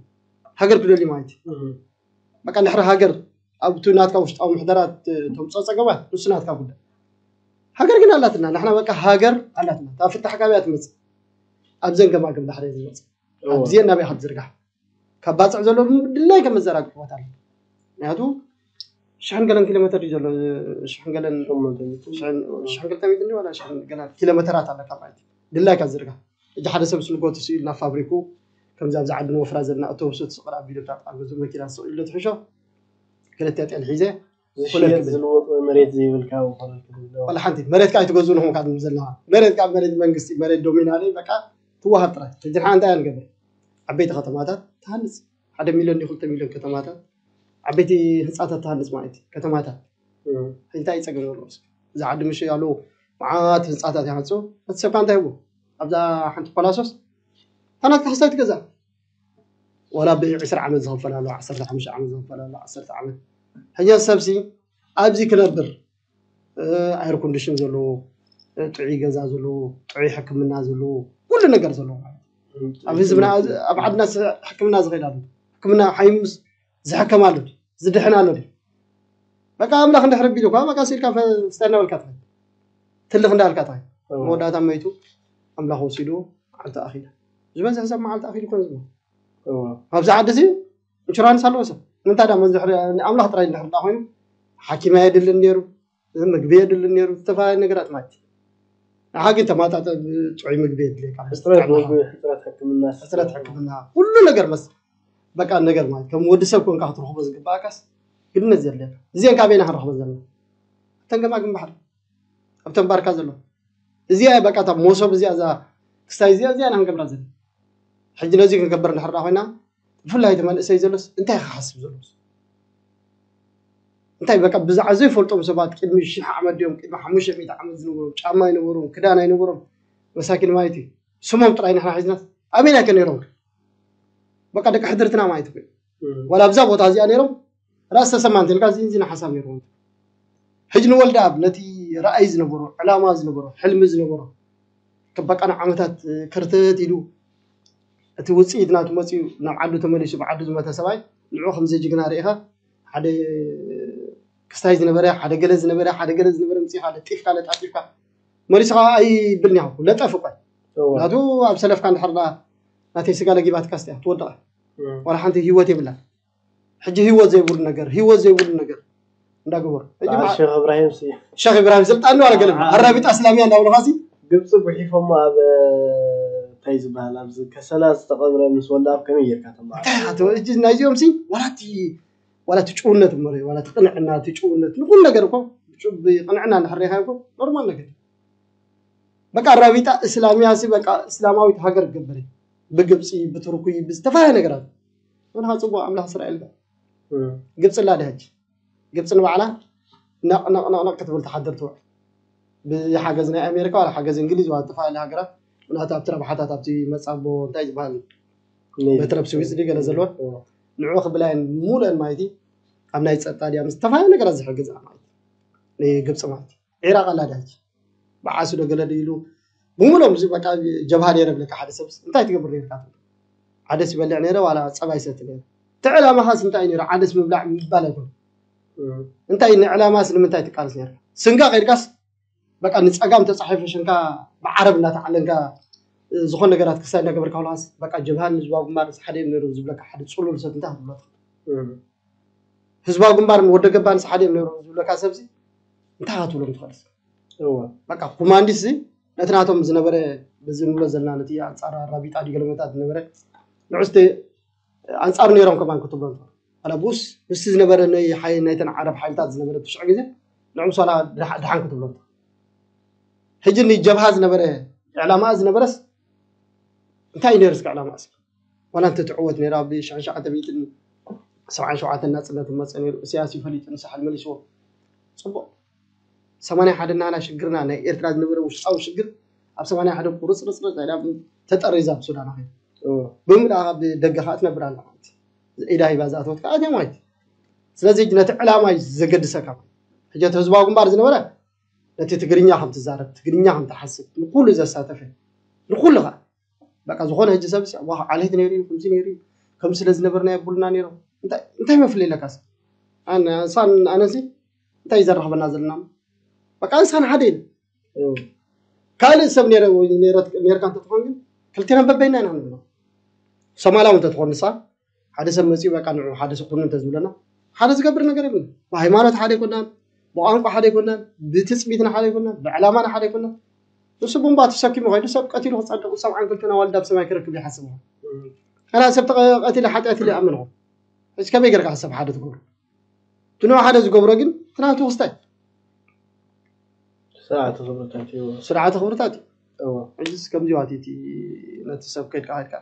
ሃገር ክደልዩ ማለት እዩ በቃ ንሕሪ ሃገር ኣብቲ ናትካ ውሽጣዊ ምሕደራ ተምፅኦ ፀገማት ንሱ ናትካ ጉዳይ። ሃገር ግን ኣላትና፣ ንሕና በቃ ሃገር ኣላትና። እታ ፍታሕ ካበይ እያ ትመፅእ? ኣብዘን ገማግም ባሕሪ እያ ዝመፅእ። ኣብዚአን ናበይ ካብ ዝርጋሕ? ካብ ባፅዕ ዘሎ ድላይ ከም መዘራግሕዎት ኣሎ። ምክንያቱ ሽሕን ገለን ኪሎ ሜትር እዩ ዘሎ። ሽሕን ገለን ሽሕን ክልተ ሚእቲ ዋላ ሽሕን ገለን ኪሎ ሜትራት ኣለካ ማለት እዩ። ድላይካ ዝርጋሕ። ሕጂ ሓደ ሰብ ስልጎት ስኢሉ ናብ ፋብሪኩ፣ ከምዚ ኣብዚ ዓዲ ንወፍራ ዘለና ኣውቶቡስ ትስቕል ኣቢሉ ኣብ ገዙ መኪና ስቕ ኢሉ ትሕሾ። ክልተ ጤል ሒዘ ዝሽየጥ ዝልወጥ ወይ መሬት ዘይብልካ ወላ ሓንቲ መሬትካ ኣይትገዝኡ ንኹም ካብ ዘለና። መሬት ካብ መሬት መንግስቲ፣ መሬት ዶሚናሊ በቃ ትወሃብ ጥራይ። ሕጂ ንሓ እንታይ ኣንገብር? ዓበይቲ ከተማታት ትሃንፅ፣ ሓደ ሚሊዮን ዲ ክልተ ሚሊዮን ከተማታት፣ ዓበይቲ ህንፃታት ትሃንፅ ማለት እዩ። ከተማታት እንታይ እዩ ፀገም ዘለዎ? እዚ ዓዲ ምሽ ያሉ መዓት ህንፃታት ይሃንፁ። እቲ ሰብካ እንታይ ይህቡ? ኣብዛ ሓንቲ ፓላሶስ ታናት ካሕሳይ ትገዛ፣ ዋላ ብ20 ዓመት ዝኸፈል ኣሎ፣ 15 ዓመት ዝኸፈል ኣሎ፣ 10 ዓመት። ሕጂ ሰብሲ ኣብዚ ክነብር፣ ኤር ኮንዲሽን ዘለዎ፣ ጥዑይ ገዛ ዘለዎ፣ ጥዑይ ሕክምና ዘለዎ፣ ኩሉ ነገር ዘለዎ ማለት እዩ። ኣብ ህዝብና፣ ኣብ ዓድና ሕክምና ዝኸይድ ኣሎ፣ ሕክምና ሓይሙስ ዝሕከም ኣሎ፣ ዝድሕን ኣሎ። በቃ ኣምላኽ እንድሕር ቢሉ እኳ በቃ ሲልካ ስተ እናበልካ ትኸይድ፣ ትልኽ እንዳበልካ ትኸይድ። መወዳእታ መይቱ ኣምላኽ ወሲዱ መዓልቲ ኣኺላ። ዝበዝሕ ሰብ መዓልቲ ኣኺሉ ኮን ዝሞ ኣብዚ ዓዲ እዚ ኢንሹራንስ ኣለዎ ሰብ። ንምንታይ ዳ መዝሕሪ ኣምላኽ ጥራይ እንድሕር ዳ ኮይኑ ሓኪም ኣየድልን ነይሩ፣ ምግቢ የድልን ነይሩ፣ ዝተፈላለዩ ነገራት ማለት እዩ። ንሓ ግን ተማጣጠ ጥዑይ ምግቢ የድልየካ። ሕፅረት ምግቢ፣ ሕፅረት ሕክምና፣ ሕፅረት ሕክምና፣ ኩሉ ነገር መስ በቃ ነገር ማለት ከም ወዲ ሰብ ኮንካ ክትረኽቦ ዝግባኣካስ ግድነት ዘድልየካ። እዚአን ካበይና ክንረኽቦ ዘለና? እተን ገማግም ባሕሪ ኣብተን ባርካ ዘሎ እዚኣ በቃ እታ መሶብ እዚኣ እዛ ክስታይ እዚኣ እዚኣ ኢና ክንገብራ ዘለና። ሕጂ ነዚ ክንገብር እንድሕር ኮይና ብፍላይ እቲ መንእሰይ ዘሎስ እንታይ ክሓስብ ዘሎስ እንታይ በቃ ብዛዕባ ዘይፈልጦም ሰባት ቅድሚ ሽሕ ዓመት ድዮም ቅድሚ ሓሙሽተ ሚእቲ ዓመት ዝነበሮም ጫማ ኣይነበሮም ክዳን ኣይነበሮም መሳኪን ማለት እዩ። ስሞም ጥራይ ንሕና ሒዝናስ ኣበይና ከ ነይሮም? በቃ ደቂ ሕድርትና ማለት እዩ። ዋላ ኣብዛ ቦታ እዚኣ ነይሮም ራስ ተሰማ እንተልካ እዚ እዚ ሓሳብ ነይርዎም። ሕጂ ንወልደ ኣብ ነቲ ራእይ ዝነበሮ ዕላማ ዝነበሮ ሕልሚ ዝነበሮ በቃ ንዓመታት ክርተት ኢሉ እቲ ውፅኢት ናቱ መፅኡ ናብ ዓዱ ተመሊሱ ብዓዱ ዝመተ ሰብኣይ ንዑ ከምዚ ጅግና ርኢኻ ሓደ ክስታይ ዝነበረ ሓደ ገለ ዝነበረ ሓደ ገለ ዝነበረ ምፅኢኻ ለጢፍካ ለጣጢፍካ መሊስኻ ኣይብል ኒኻ ለጠፍ እኳ ናቱ ኣብ ሰለፍካ እንድሕር ናተይ ስጋ ለጊባትካ ስቲያ ትወድቐ ዋላ ሓንቲ ህይወት የብላን። ሕጂ ህይወት ዘይብሉ ነገር ህይወት ዘይብሉ ነገር እንዳገበሩ ሕጂ በዓል ማ- ሸኽ እብራሂም ሲ ሸኽ ኢብራሂም ስልጣን ነው አልገለም አ- አራቢጣ እስላሚያ እንዳብሉ ኻሲ ግብፂ ጉሒፎሞ ኣብ እንታይ ዝበሃል ኣብዚ ከሰላ ዝተቐብረ ምስ ወልደ ኣብ ከመይ ጌርካ ተማሃር እንታይ ኣቶ እጂ ናይዚኦም ሲ ዋላቲ ዋላቲ ጭውነት እሞ ዋላቲ ቅንዕና እቲ ጭውነት ንኩሉ ነገር እኮ ብጭ- ብቅንዕና እንድሕር ርኢኻ እኮ ኖርማል ነገር በቃ ራቢጣ እስላሚያ ሲ በቃ እስላማዊት ሃገር ትገብር ብግብፂ ብቱርኩይ ብዝተፈላለየ ነገራት ንኻ ፅቡቅ ኣምላኽ እስራኤል ጋር ግብፂ ኣላ ድያ ሕጂ ግብፂ ንባዕላ ነቕነቕነቕነቕ ክትብል ትሓድር ትውዕል ብሓገዝ ናይ ኣሜሪካ ዋላ ሓገዝ እንግሊዝ ዋላ ዝተፈላለዩ ሃገራት ምክንያቱ ኣብቲ ረብሓታት ኣብቲ መፃቦ እንታይ ዝበሃል በትረብ ስዊዝ ድዩ ገለ ዘለወን ንዑ ክብላየን ሙሉአን ማለት እዩ ኣብ ናይ ፀጥታ ድያ ምስ ዝተፈላለዩ ነገራት ዝሕግዝ ማለት እዩ ንግብፂ ማለት እዩ ኢራቕ ኣላ ድያ ሕጂ ብዓሲ ዶ ገለ ኢሉ ብምሎም እዚ በቃ ጀብሃ ነይረ ብለካ ሓደ ሰብ እንታይ ትገብር ነርካ ዓደስ ይበልዕ ነይረ ዋላ ፀባይ ሰቲ ነይረ እቲ ዕላማኻስ እንታይ ነይሩ ዓደስ ምብላዕ ምባል ኣይኮነ እንታይ ንዕላማስ ንምንታይ ትቃለስ ነርካ ስንጋ ከይድካስ በቃ ንፀጋም ተፃሒፈ ሽንካ ብዓረብ እናተዓለንካ ዝኾነ ነገራት ክሳይ እናገበርካ ውላስ በቃ ጀብሃን ህዝባዊ ግንባር ሓደ እዮም ነይሮም ዝብለካ ሓደ ፅሉል ሰብ እንታይ ክትብሎ ህዝባዊ ግንባር ወደ ገባንስ ሓደ እዮም ነይሮም ዝብለካ ሰብዚ እንታይ ክትብሎም ትኽእል በቃ ኮማንዲስ ነቲ ናቶም ዝነበረ በዚ ንብሎ ዘለና ነቲ ኣንፃር ኣራቢጣ ዲገለመታት ዝነበረ ንዑስቲ ኣንፃር ነይሮም ከማን ክትብሎ ኣላ ብኡስ ምስቲ ዝነበረ ናይተን ዓረብ ሓይልታት ዝነበረ ትሽዑ ግዜ ንዑም ሶላ ድሓን ክትብሎ ሕጂ ንጀብሃ ዝነበረ ዕላማ ዝነበረስ እንታይ ነይሩ እስከ ዕላማ እስከ ዋላ እንተ ትዕወት ነይራ ብ ሽሕን ሸውዓተ ሚእትን ሰብዓን ሸውዓተን ናፅነት መፀ ነይሩ። ኢሳያስ እዩ ፈሊጡ ንሳሕል መሊስዎ። ፅቡቕ ሰማንያ ሓደ ናና ሽግርና ናይ ኤርትራ ዝነበረ ውሽጣዊ ሽግር ኣብ ሰማንያ ሓደ ቁርፅርፅርፅ ኢላ ተጠሪዛ ብሱዳን ኣኺላ ብምልኣ ካብ ደገ ከዓ ትነብር ኣላ ማለት ኢዳ ሂባ ዝኣተወት ከዓ እትያ ማለት ስለዚ ነቲ ዕላማ እዩ ዘገድሰካ ሕጂ እቲ ህዝባዊ ግንባር ዝነበረ ነቲ ትግርኛ ከም ትዛረብ ትግርኛ ከም ትሓስብ ንኩሉ ዘሳተፈ ንኩሉ ከዓ በቃ ዝኾነ ሕጂ ሰብ ዋ ዓሌት ነይሩ እዩ ከምዚ ነይሩ እዩ ከምዚ ስለ ዝነበርና የብሉና ነይሮም እንታይ እንታይ መፍለይ ኣለካስ? ኣነ ንሳን ኣነሲ እንታይ እዩ ዘራኽበና ዘለና? በቃ ንሳን ሓደ ኢለ። እም። ካልእ ሰብ ነይረ ወይ ነይረት-፣ ነይርካ እንተትኾን ግን ክልቴና በበይና ኢና ንብሎ። ሶማላዊ እንተትኾን ንሳ ሓደ ሰብ መፂኡ በቃ ንዑ ሓደ ሰብ ኩኑ እንተዝብለና ሓደ ዝገብር ነገር የብልን። ብሃይማኖት ሓደ ኣይኮናን፣ ብቋንቋ ሓደ ኣይኮናን፣ ብትፅቢትና ሓደ ኣይኮናን፣ ብዕላማና ሓደ ኣይኮናን። ንሱ ቡምባ ተሰኪሙ ከይዱ ሰብ ቀቲሉ ክፀድቕ ሰብዓን ክልተን ኣዋልድ ኣብ ሰማይ ክረክብ ይሓስብ። እም። ከላ ሰብ ተቐ-፣ ቀቲለ ሓጢኣት ኢለ ይኣምን። ሕጂ ከመይ ጌርካ ሰብ ሓደ ትገብሮ? እቲ ንዑ ሓደ ዝገብሮ ግን እቲ ናቱ ክስታይ ስርዓተ ክብርታት እዩ። ስርዓተ ክብርታት እዩ። እዎ። ሕጂስ ከምዚ ዋት እቲ ነቲ ሰብ ከድካ ከድካ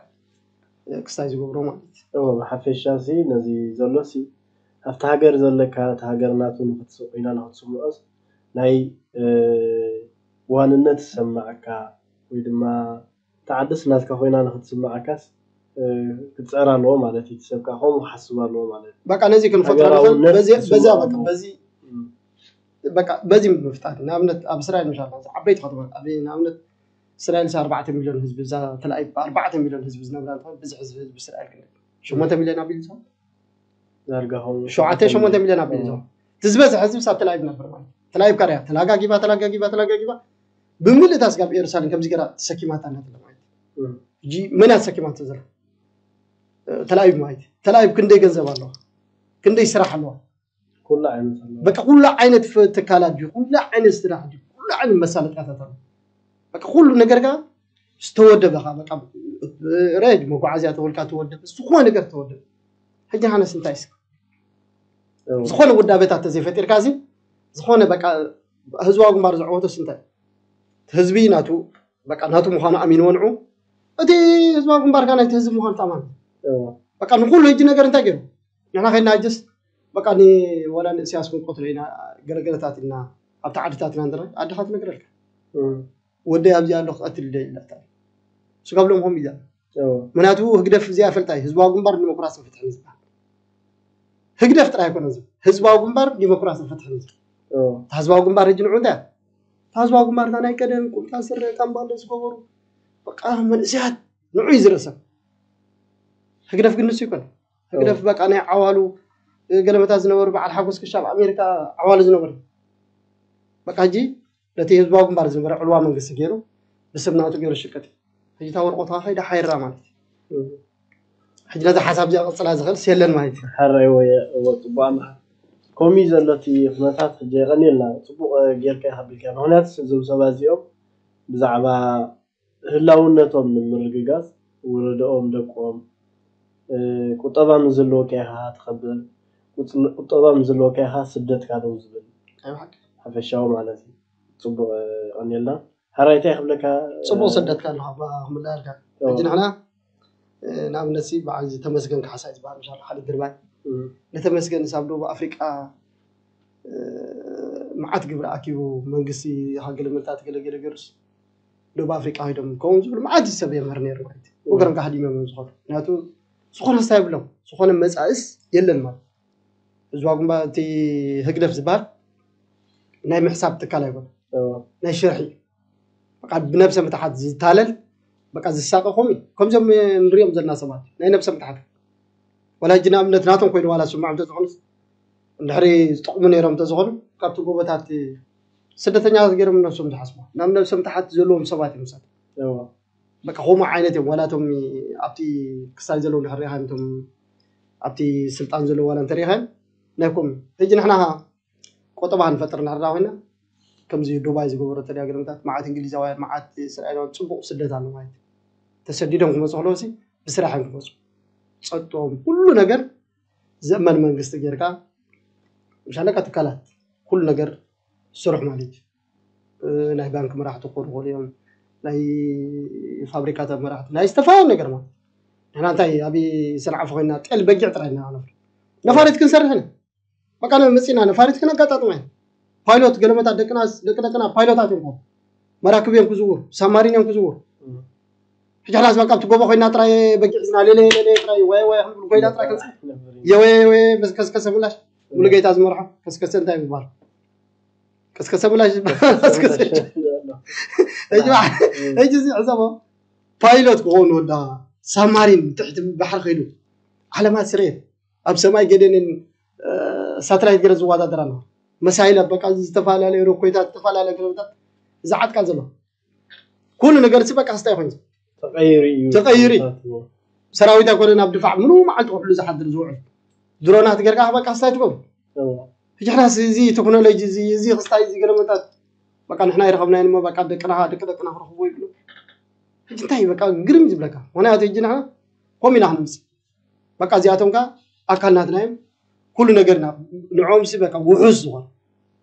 ክስታይ ዝገብሮ ማለት እዩ። እዎ፣ ብሓፈሻ ሲ ነዚ ዘሎ ሲ ኣብቲ ሃገር ዘለካ እቲ ሃገር ናቱ ንክትስ-፣ ኮይና ንክትስምዖስ ናይ፣ እ፣ ዋንነት ዝሰማዓካ ወይ ድማ እታ ዓድስ ናትካ ኮይና ንክትስምዓካስ፣ እ፣ ክትጽዕር ኣለዎ ማለት እዩ። እቲ ሰብ ከኣ ከምኡ ክሓስብ ኣለዎ ማለት እዩ። በቃ ነዚ ክንፈጥሮ ንኽእል ሃገራውነት በዚ፣ በዚ፣ ዝስምዖ በቃ ኣለዎ። በዚ፣ እም። በቃ በዚ ምፍጣር። ንኣብነት ኣብ እስራኤል ምሻ ዓበይቲ ከተማታት፣ ኣብ ንኣብነት እስራኤል ሳ ኣርባዕተ ሚልዮን ህዝቢ፣ እዛ ተላኢቭ ኣርባዕተ ሚልዮን ህዝቢ ዝነብራ እንተኾነ፣ ብዝሒ ህዝቢ፣ ህዝቢ እስራኤል ክንደይ? ሸሞንተ ሚልዮን ኣቢሉ ዝኸውን? ዳርጋ ኸውን ሸውዓተ፣ ሸሞንተ ሚልዮን ኣቢሉ እም። ዝኸውን። እቲ ዝበዝሐ ህዝቢ ኣብ ተላኢቭ ነብር ማለት እዩ። ተላኢቭ ካርያ፣ ተላጋጊባ፣ ተላጋጊባ፣ ተላጋጊባ፣ ብምልእታ ስጋብ ኢየሩሳሌም ከምዚ ገራ ተሰኪማታ እናተለ ማለት እዩ። እም። ሕጂ መን እያ ተሰኪማቶ ዘላ? እ፣ ተላኢቭ ማለት እዩ። ተላኢቭ ክንደይ ገንዘብ ኣለዋ? ክንደይ ስራሕ ኣለዋ? ኩሉ ዓይነት ኣለዋ። በቃ ኩሉ ዓይነት ፍ-፣ ትካላት ድዩ? ኩሉ ዓይነት ስራሕ ድዩ? ኩሉ ዓይነት መሳለጥያታት ኣለዋ። በቃ ኩሉ ነገር ጋር ዝተወደበ ኻ፣ በቃ ሬድ መጓዓዝያ ተወልካ ተወደበ፣ ዝኾነ ነገር ተወደበ። ሕጂ ሃነስ እንታይ እስከ? እው። ዝኾነ ውዳበታት ተዘይፈጢርካ እዚ፣ ዝኾነ በቃ ህዝባዊ ግንባር ዘዕወቶስ እንታይ? ህዝቢ ናቱ፣ በቃ ናቱ ምዃኑ ኣሚንዎ ንዑ። እቲ ህዝባዊ ግንባር ከኣ ናይቲ ህዝቢ ምዃኑ ተኣማን። እው። በቃ ንኹሉ ሕጂ ነገር እንታይ ገይሩ? ንሕና ከይድና ሕጅስ በቃ ን-፣ ወላ ንእስያስ ክንቀትሎ ኢና፣ ገለገለታት ኢልና ኣብቲ ዓድታትና እንተ-፣ ኣድኻ ትነግረልካ። እም። ወደይ ኣብዚ ኣሎ ክቐትል ይደሊ ኢላታ። ስጋብ ሎም ከምኡ ኢላ። እዎ። ምክንያቱ ህግደፍ እዚኣ ፈልጣ እዩ። ህዝባዊ ግንባር ዲሞክራስን ፍትሕን እዩ ዝበሃል። ህግደፍ ጥራይ ኣይኮነን እዚ። ህዝባዊ ግንባር ዲሞክራስን ፍትሕን እዩ ዝበሃል። እዎ። እታ ህዝባዊ ግንባር ሕጂ ንዑ እንታይ እያ? እታ ህዝባዊ ግንባር እታ ናይ ቀደም ቁምጣ ስረ ካምባለ ዝገበሩ በቃ መንእሰያት ንዑ እዩ ዝርእሰም። ህግደፍ ግን ንሱ ይኮነ። ህግደፍ እዎ። በቃ ናይ ዓዋሉ ገለመታት ዝነበሩ በዓል ሓጎስ ክሻብ ኣሜሪካ ዓዋሉ ዝነበሩ። በቃ ሕጂ ነቲ ህዝባዊ ግንባር ዝነበረ ዕልዋ መንግስቲ ገይሩ ብስም ናቱ ገይሩ ሽቅጥ። ሕጂ እታ ወረቆት ከይዳ ሓይራ ማለት እዩ። እም። ሕጂ ነዛ ሓሳብ እዚኣ ቅጽላ ዝኽእል የለን ማለት እዩ። ሓራይ ወይ እዎ፣ ጽቡቕ ኣምሓ። ከምኡ እዩ ዘሎ እቲ ኩነታት። ሕጂ የቐንየልና። ጽቡቕ፣ እ፣ ጌርካ ኢኻ ኣቢልካ። ምኽንያቱ እዞም ሰባት እዚኦም ብዛዕባ ህላውነቶም ንምርግጋጽ ወለዶኦም፣ ደቆም፣ እ፣ ቁጠባ ምስ ዘለወካ ኢኻ ትኸብር፣ ቁጽ-፣ ቁጠባ ምስ ዘለወካ ኢኻ ስደትካ ደው ዝብል። ኣይ ብሓቂ። ሓፈሻዊ ማለት እዩ። ጽቡቕ፣ እ፣ የቐንየልና። ሓራይ እንታይ ክብለካ፣ ጽቡቕ እ፣ ሰደትካ ኣለኻ፣ ባ-፣ ክምለኣልካ። እዎ። ሕጂ ንሕና፣ እ፣ ንኣብነት ሲ በዓል እዚ ተመስገን ካሕሳይ ዝበሃል፣ ምሻ ሓደ ድርባይ። እም። ንተመስገን ሳብ ደቡብ ኣፍሪቃ፣ እ፣ መዓት ግብሪ ኣኪቡ መንግስቲ ሃገለ ምልታት ገለ ገለ ገይሩስ ደቡብ ኣፍሪቃ ከይዶም ከምኡ ዝብሉ መዓት ሰብ የምህር ነይሩ ማለት እዩ። እም። ወገኖም ካሕዲሞም እዮም ዝኾኑ። ምክንያቱ ዝኾነ ስታ የብሎም። ዝኾነ መጻእስ የለን ማለት። ህዝባዊ ግንባር፣ እቲ ህግደፍ ዝበሃል ናይ ምሕሳብ ትካል ኣይኮነ። እዎ። ናይ ሽርሒ እዩ። በቃ ብነብሰ ምትሓት ዝታለል፣ በቃ ዝሳቀ ከምኡ እዩ። ከምዞም ንሪኦም ዘለና ሰባት ናይ ነብሰ ምትሓት። ዋላ ሕጂ ንኣብነት ናቶም ኮይኑ ዋላ ስምዖም እንተዝኾኑስ፣ እንድሕሪ ዝጠቕሙ ነይሮም እንተዝኾኑ፣ ካብቲ ጎቦታት ስደተኛታት ገይሮም ነብሶም ዝሓስቡ። ናብ ነብሰ ምትሓት ዘለዎም ሰባት እዮም ንሳቶም። እዎ። በቃ ከምኡ ዓይነት እዮም። ዋላ እቶም ኣብቲ ክሳይ ዘለዉ እንድሕር ሪኢኻ፣ እቶም ኣብቲ ስልጣን ዘለዉ ዋላ እንተሪኢኻ፣ ናይ ከምኡ። ሕጂ ንሕና ቆጠባ ክንፈጥር እንድሕር ኮይና፣ ከምዚ ዱባይ ዝገበሮ ተደጋግምታት፣ መዓት እንግሊዛውያን፣ መዓት እስራኤላውያን፣ ጽቡቕ ስደት ኣሎ ማለት እዩ። ተሰዲዶም ክመጹ ከለዉ ሲ ብስራሕ እዮም ክመጹ። ጸጥቶም፣ ኩሉ ነገር ዘእመን መንግስቲ ጌርካ፣ ምሽ ኣለካ ትካላት፣ ኩሉ ነገር ስሩሕ ማለት እዩ። እ፣ ናይ ባንክ መራሕቲ ክኾኑ ይኽእሉ እዮም፣ ናይ ፋብሪካታት መራሕቲ፣ ናይ ዝተፈላለዩ ነገር ማለት እዩ። ንሕና እንታይ ኣብ ሰንዓፈ ኮይና ጤል በጊዕ ጥራይ ኢና ነፍሪ። ነፋሪት ክንሰርሕ ኢና። በቃ መጺና ነፋሪት ክነጋጣጥማ ኢና። ፓይሎት ገለመታት ደቅና፣ ደቂ ደቅና ፓይሎታት እዮም ክኾኑ። መራክብ እዮም ክዝውሩ፣ ሳማሪን እዮም ክዝውሩ። እም። ሕጂ ሓላስ በቃ ኣብቲ ጎቦ ኮይና ጥራይ በጊዕ ሒዝና ሌለ ሌለ ጥራይ ወይ ወይ ክንብል ኮይና ጥራይ ክንጽ-፣ የወየ የወየ ምስ ከስከሰ ምላሽ ሙሉጌታ ዝመርሖ ከስከሰ እንታይ ይባሃል? ከስከሰ ምላሽ ይባሃል። ከስከሰ። ሕጂ በ-፣ እም። ሕጂ እዚ ሕሰቦ ፓይሎት ክኾኑ ወዳ ሳማሪን ትሕቲ ባሕሪ ከይዱ ዓለማት ስርየት ኣብ ሰማይ ገደንን ሳተላይት ገረ ዝወዳደራ ኣለዋ። መሳይላት በቃ፣ ዝተፈላለዩ ሮኮይታት፣ ዝተፈላለዩ ገረታት ዝዓጥቃ ዘሎ ኩሉ ነገር ሲ በቃ ስታይ ኮይኑ ተቀይሩ እዩ ተቀይሩ እዩ። ተታትዎ። ሰራዊት ኣይኮነ ናብ ድፋዕ ምኑ መዓልቲ ክውዕሉ ዝሓድር ዝውዕል ድሮናት ገርካ በቃ ስታይ ትገብሩ። ሕጂ ሕናስ እዚ ቴክኖሎጂ እዚ እዚ ክስታይ እዚ ገለመታት በቃ ንሕና ይረኸብናዮ እሞ በቃ ደቅና ደቂ ደቅና ክረኽቡ ይብሉ። ሕጂ እንታይ በቃ ግርም ዝብለካ። ምክንያቱ ሕጂ ንሕና ኮም ኢና ክንምፅእ በቃ እዚኣቶም ከ ኣካል ናትና እዮም። ኩሉ ነገርና ንዕኦም ሲ በቃ ውሑስ ዝኾነ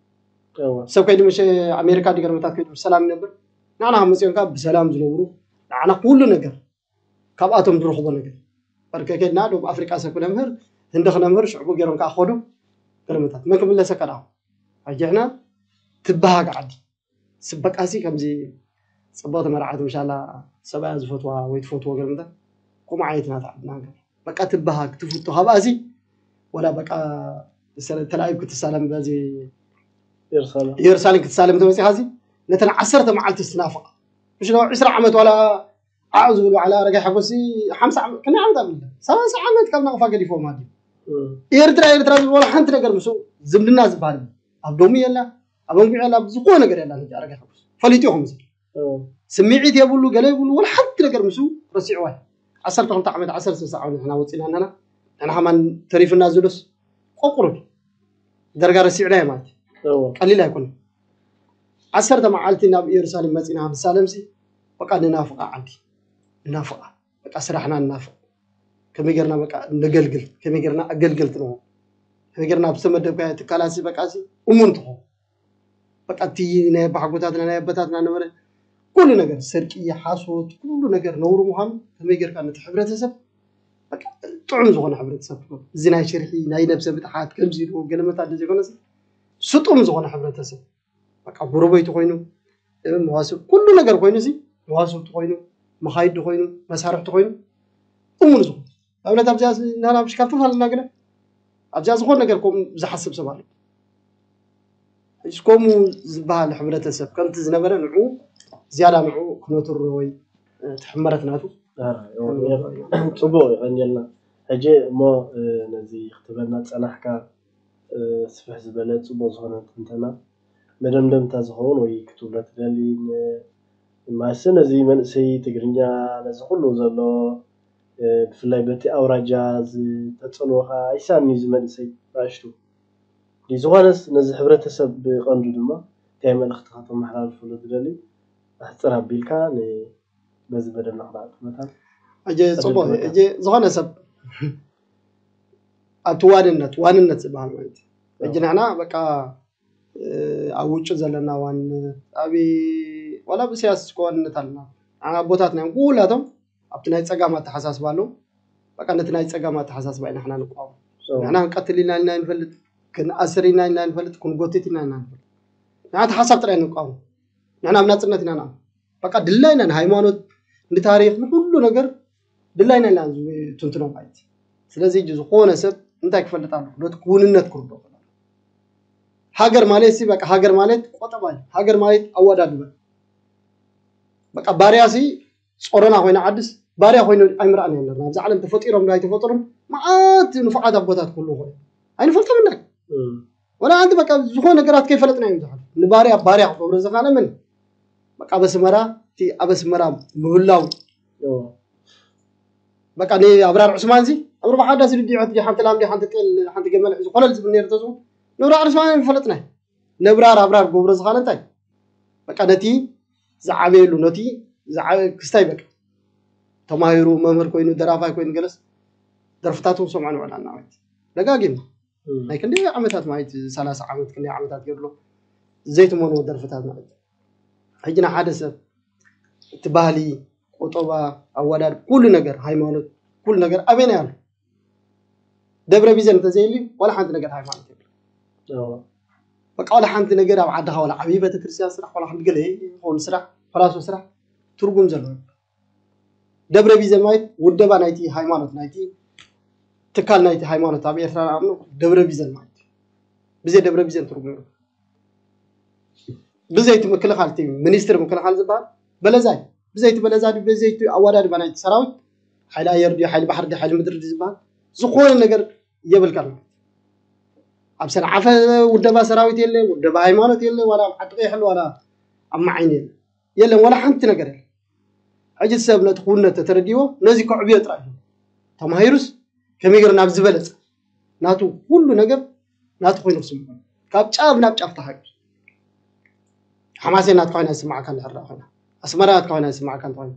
እወ። ሰብ ከይዱ መሸ ኣሜሪካ ዲገርመታት ከይዱ ብሰላም ይነብር። ንዓና ካብ መፅኦም ከ ብሰላም ዝነብሩ ንዓና ኩሉ ነገር ካብኣቶም ዝረኽቦ ነገር በርከ ከድና ደቡብ ኣፍሪቃ ሰብ ክነምህር ህንዲ ክነምህር ሽዕቡ ገይሮም ከዓ ከዱ። ገለመታት መን ክምለሰካ ደኣ ሕጂ ሕና ትበሃግ ዓዲ ስበቃሲ ከምዚ ፅቡቅ ተመርዓት ምሻላ ሰብኣያ ዝፈትዋ ወይ ትፈትዎ ገለመታት ከምኡ ዓይነት ናት ዓድና ገር በቃ ትበሃግ ትፍቶ ካብኣሲ ወላ በቃ ተላኢብ ክትሳለም በዚ ኢየሩሳሌም ኢየሩሳሌም ክትሳለም ተመፂኻ ሲ ነተን ዓሰርተ መዓልቲ ስትናፍቃ ምሽ ዶ ዕስራ ዓመት ዋላ ዓዑ ዝብል ባዕላ ኣረጋይ ሓጎሲ ሓምሳ ዓመት ከመይ ዓመት ኣብለ ሰላሳ ዓመት ካብ ናቕፋ ገዲፎም ኣዲ እም። ኤርትራ ኤርትራ ዝብል ዋላ ሓንቲ ነገር ምስ ዝምድና ዝበሃል የለን። ኣብ ዶሙ የላ ኣብ ኣንጉዕ የላ ኣብ ዝኾነ ነገር የላ ሕጂ ኣረጋይ ሓጎሲ ፈሊጡ ይኹም ዝብል እም። ስምዒት የብሉ ገለ የብሉ ወላ ሓንቲ ነገር ምስ ረሲዕዋ ዓሰርተ ክልተ ዓመት ዓሰርተ ሰለስተ ዓመት ንሕና ወፂና ኣለና። ንሕና ከማን ተሪፍና ዝዶስ ቆቁሩ ደርጋ ረሲዕናዮ ማለት እዩ። እም። ቀሊል ኣይኮነን። ዓሰርተ መዓልቲ ናብ ኢየሩሳሌም መፂና ክንሳለምሲ በቃ ንናፍቃ ዓዲ ንናፍቃ በቃ ስራሕና ንናፍቅ ከመይ ጌርና በቃ ነገልግል ከመይ ጌርና ኣገልገልቲ ንኾን ከመይ ጌርና ኣብ ዝተመደብካዮ ትካላት በቃ እሙን ትኾን በቃ እቲ ናይ ኣባሓጎታትና ናይ ኣቦታትና ነበረ ኩሉ ነገር ስርቂ ሓሶት ኩሉ ነገር ነውሪ ምዃኑ ከመይ ጌርካ ነቲ ሕብረተሰብ በቃ ጥዑም ዝኾነ ሕብረተሰብ ትኾን እዚ ናይ ሽርሒ ናይ ነብሰ ምትሓት ከምዚ ኢሉ ገለመታት ዘይኮነስ ስጡም ዝኾነ ሕብረተሰብ በቃ ጎረቤቱ ኮይኑ መዋስብ ኩሉ ነገር ኮይኑ ሲ መዋስብቲ ኮይኑ መኻይዲ ኮይኑ መሳርሕቲ ኮይኑ እሙን ዝኾነ ኣብነት ኣብዚኣ ናናብሽ ካብ ተፈላለና ግና ኣብዚኣ ዝኾነ ነገር ከምኡ ዝሓስብ ሰብ ኣሎ ሕጂ ከምኡ ዝበሃል ሕብረተሰብ ከምቲ ዝነበረ ንዑ ዝያዳ ንዑ ክነትሮ ወይ ትሕመረት ናቱ ጽቡቅ ይቀንየልና። ሕጂ እሞ ነዚ ክትብለና ዝጸናሕካ ስፍሕ ዝበለ ጽቡቅ ዝኾነ ትንተና መደምደምታ ዝኸውን ወይ ክትብሎ ትደሊ ማለትሲ ነዚ መንእሰይ ትግርኛ ነዚ ኩሉ ዘሎ ብፍላይ በቲ ኣውራጃ ዝተጸልወኻ ኣይሳኒ እዚ መንእሰይ ንኣሽቱ ዝኾነስ ነዚ ሕብረተሰብ ብቀንዱ ድማ እንታይ መልእኽቲ ከተመሓላልፈሉ ትደሊ ኣሕፅር ኣቢልካ በዚ በደልና ክነዕጥመታን ሕጂ ፅቡቅ ሕጂ ዝኾነ ሰብ ኣብቲ ዋንነት ዋንነት ዝበሃል ማለት እዩ ሕጂ ንሕና በቃ ኣብ ውጭ ዘለና ዋንነት ኣብ ዋላ ብስያስ ዋንነት ኣለና ኣቦታትና እዮም ኩላቶም ኣብቲ ናይ ፀጋም ኣተሓሳስባ ኣለዉ በቃ ነቲ ናይ ፀጋም ኣተሓሳስባ ኢና ንሕና ንቋወም ንሕና ክንቀትል ኢና ኢልና ንፈልጥ ክንኣስር ኢና ኢልና ንፈልጥ ክንጎትት ኢና ኢና ንፈልጥ ንሕና ሓሳብ ጥራይ ንቋወም ንሕና ኣብ ናፅነት ኢና ንኣምን በቃ ድላይና ንሃይማኖት ንታሪክ ንኩሉ ነገር ድላይና ኢና ትንትኖ ማለት ስለዚ ሕጂ ዝኾነ ሰብ እንታይ ክፈልጥ ኣሎ ነቲ ክውንነት ክርዶ ሃገር ማለት ሲ በቃ ሃገር ማለት ቆጠባ እዩ ሃገር ማለት ኣወዳድበ በቃ ባርያ ሲ ጾሮና ኮይና ዓድስ ባርያ ኮይኑ ኣይምርኣና ኣለና ኣብዚ ዓለም ተፈጢሮም ዶ ኣይተፈጥሩን መዓት ንፉዓት ኣቦታት ክህሉ ኮይኑ ኣይንፈልጦም እና ወላ ኣንቲ በቃ ዝኾነ ነገራት ከይፈለጥና እዮም ዝሓሉ ንባርያ ባርያ ክገብሮ ዝኻነ መን በቃ ኣብ ኣስመራ እቲ ኣብ ኣስመራ ምህላው በቃ ንኣብራር ዑስማን ዚ ኣብ ርባሓ ዳስ ድዲዖት ሓንቲ ላም ሓንቲ ጤል ሓንቲ ገመል ሒዙ ኮለል ዝብል ነይሩ ተዝኾን ንኣብራር ዑስማን ፈለጥና ነብራር ኣብራር ገብሮ ዝኻነ እንታይ በቃ ነቲ ዝዓበየሉ ነቲ ክስታይ በቃ ተማሂሩ መምህር ኮይኑ ደራፋይ ኮይኑ ገለስ ደርፍታቱ ሰምዖ ንውዕል ኣናዋይት ደጋጊምና ናይ ክንደይ ዓመታት ማለት ሰላሳ ዓመት ክንደይ ዓመታት ገድሎ ዘይትመንዎ ደርፍታት ማለት ሕጂ ንሓደ ሰብ እቲ ባህሊ ቆጠባ ኣወዳድ ኩሉ ነገር ሃይማኖት ኩሉ ነገር ኣበይና ያሉ ደብረ ቢዘን እንተዘይሉ ዋላ ሓንቲ ነገር ሃይማኖት የብሉ በቃ ዋላ ሓንቲ ነገር ኣብ ዓድኻ ዋላ ዓብዪ ቤተክርስትያን ስራሕ ዋላ ሓንቲ ገለ ይኸውን ስራሕ ፈላሶ ስራሕ ትርጉም ዘለዎ ደብረ ቢዘን ማለት ውደባ ናይቲ ሃይማኖት ናይቲ ትካል ናይቲ ሃይማኖት ኣብ ኤርትራ ንኣምኖ ደብረ ቢዘን ማለት ብዘይ ደብረ ቢዘን ትርጉም የብሉ ብዘይቲ ምክልኻል እቲ ሚኒስትሪ ምክልኻል ዝበሃል በለዛ እዩ ብዘይቲ በለዛ ድዩ ብዘይቲ ኣወዳድባ ናይቲ ሰራዊት ሓይሊ ኣየር ድዩ ሓይሊ ባሕሪ ድዩ ሓይሊ ምድሪ ድዩ ዝበሃል ዝኾነ ነገር የብልካን ማለት እዩ። ኣብ ሰንዓፈ ውደባ ሰራዊት የለ፣ ውደባ ሃይማኖት የለ፣ ዋላ ኣብ ዓዲ ቀይሕ ኣሎ፣ ዋላ ኣብ መዓይኒ የለ፣ የለን፣ ዋላ ሓንቲ ነገር የለ። ሕጂ ሰብ ነቲ ክውነት ተተረዲዎ ነዚ ከዕብዮ ጥራይ እዩ። ተማሂሩስ ከመይ ገይሩ ናብ ዝበለጸ ናቱ ኩሉ ነገር ናቱ ኮይኑ ክስምዖ፣ ካብ ጫፍ ናብ ጫፍ ተሃገር። ሓማሴን ናትካ ኮይና ይስማዓካ እንድሕር ደኣ ኮይና፣ ኣስመራ ናትካ ኮይና ይስማዓካ እንተ ኮይና፣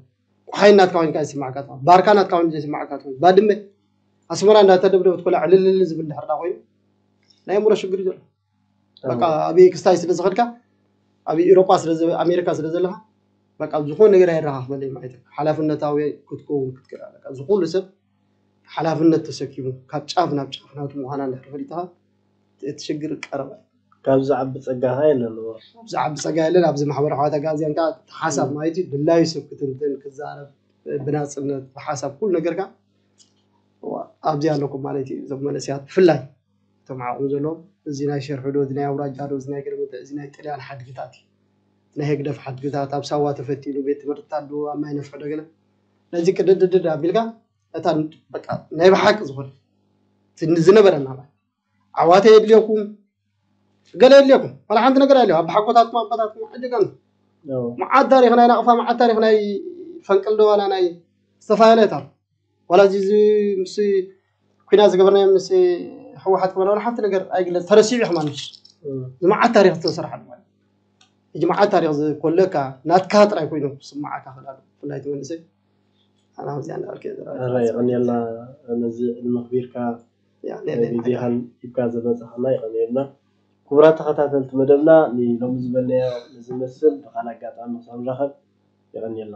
ቆሓይ ናትካ ኮይንካ ይስማዓካ እንተ ኮይና፣ ባርካ ናትካ ኮይኑ ዘይስማዓካ እንተ ኮይና፣ ባድመ ኣስመራ እንዳተደብደበት ኮላ ዕልልል ዝብል እንድሕር ደኣ ኮይኑ ናይ ኣእምሮ ሽግር እዩ ዘሎ። በቃ ኣብ ክስታይ ስለ ዝኸድካ፣ ኣብ ኤውሮጳ ስለ ዘ- ኣሜሪካ ስለ ዘለኻ፣ በቃ ዝኾነ ነገር ኣይረኻኽበለይ ማለት እዩ። ሓላፍነታዊ ክትከውን ክትክእል ኣለካ። እዚ ኩሉ ሰብ ሓላፍነት ተሰኪሙ ካብ ጫፍ ናብ ጫፍ ናቱ ምዃና እንድሕር ፈሊጥኻ፣ እቲ ሽግር ቀረባ እዩ። ካብ ዝዓቢ ጸጋኻ የለንዎ። ኣብዚ ዓቢ ጸጋ የለን። ኣብዚ ማሕበራዊ ሓዋት ኣጋዚያን ከዓ እቲ ሓሳብ ማለት እዩ ድላዩ ሰብ ክትንትን ክዛረብ ብናጽነት ብሓሳብ ኩሉ ነገርካ ኣብዚኣ ኣለኩም ማለት እዩ። እዞም መንእሰያት ብፍላይ እቶም ዓቕሚ ዘለዎም እዚ ናይ ሸርሒ ዶ እዚ ናይ ኣውራጃ ዶ እዚ ናይ ግርምተ እዚ ናይ ጥልያን ሓድግታት እዩ። ናይ ህግደፍ ሓድግታት ኣብ ሳዋ ተፈቲኑ ቤት ትምህርትታት ዶ ኣብ ማይ ነፍሒ ዶ ገለ ነዚ ቅድድድድ ኣቢልካ እታ በቃ ናይ ብሓቂ ዝኾነ ዝነበረና ዓዋተ የድልየኩም ገለ የድልየኩም ዋላ ሓንቲ ነገር ኣለ ኣብ ሓጎታትኩም ኣቦታትኩም ዕድቀን መዓት ታሪክ ናይ ናቕፋ መዓት ታሪክ ናይ ፈንቅል ደዋና ናይ ዝተፈላለየታት ዋላ እዚ እዚ ምስ ኩናት ዝገበርናዮ ምስ ህወሓት ክበላ ዋላ ሓንቲ ነገር ኣይግለፅ ተረሲዑ እዩ ከማን ዝመዓት ታሪክ ዝተሰርሓሉ ማለት ሕጂ መዓት ታሪክ ዝኮለካ ናትካ ጥራይ ኮይኑ ክስማዓካ ክላሉ ብፍላይ ትመልሰ ኣና ከምዚኣ እንዳበልከ ረ ይቀንየልና ነዚ ዕድመ ክቢርካ ግዜኻን ሂብካ ዘመፃኻና ይቀንየልና። ክቡራት ተኸታተልቲ መደብና ንሎሚ ዝበልናዮ ንዝመስል ብካል ኣጋጣሚ ክሳብ ንራኸብ ይቀንየልና።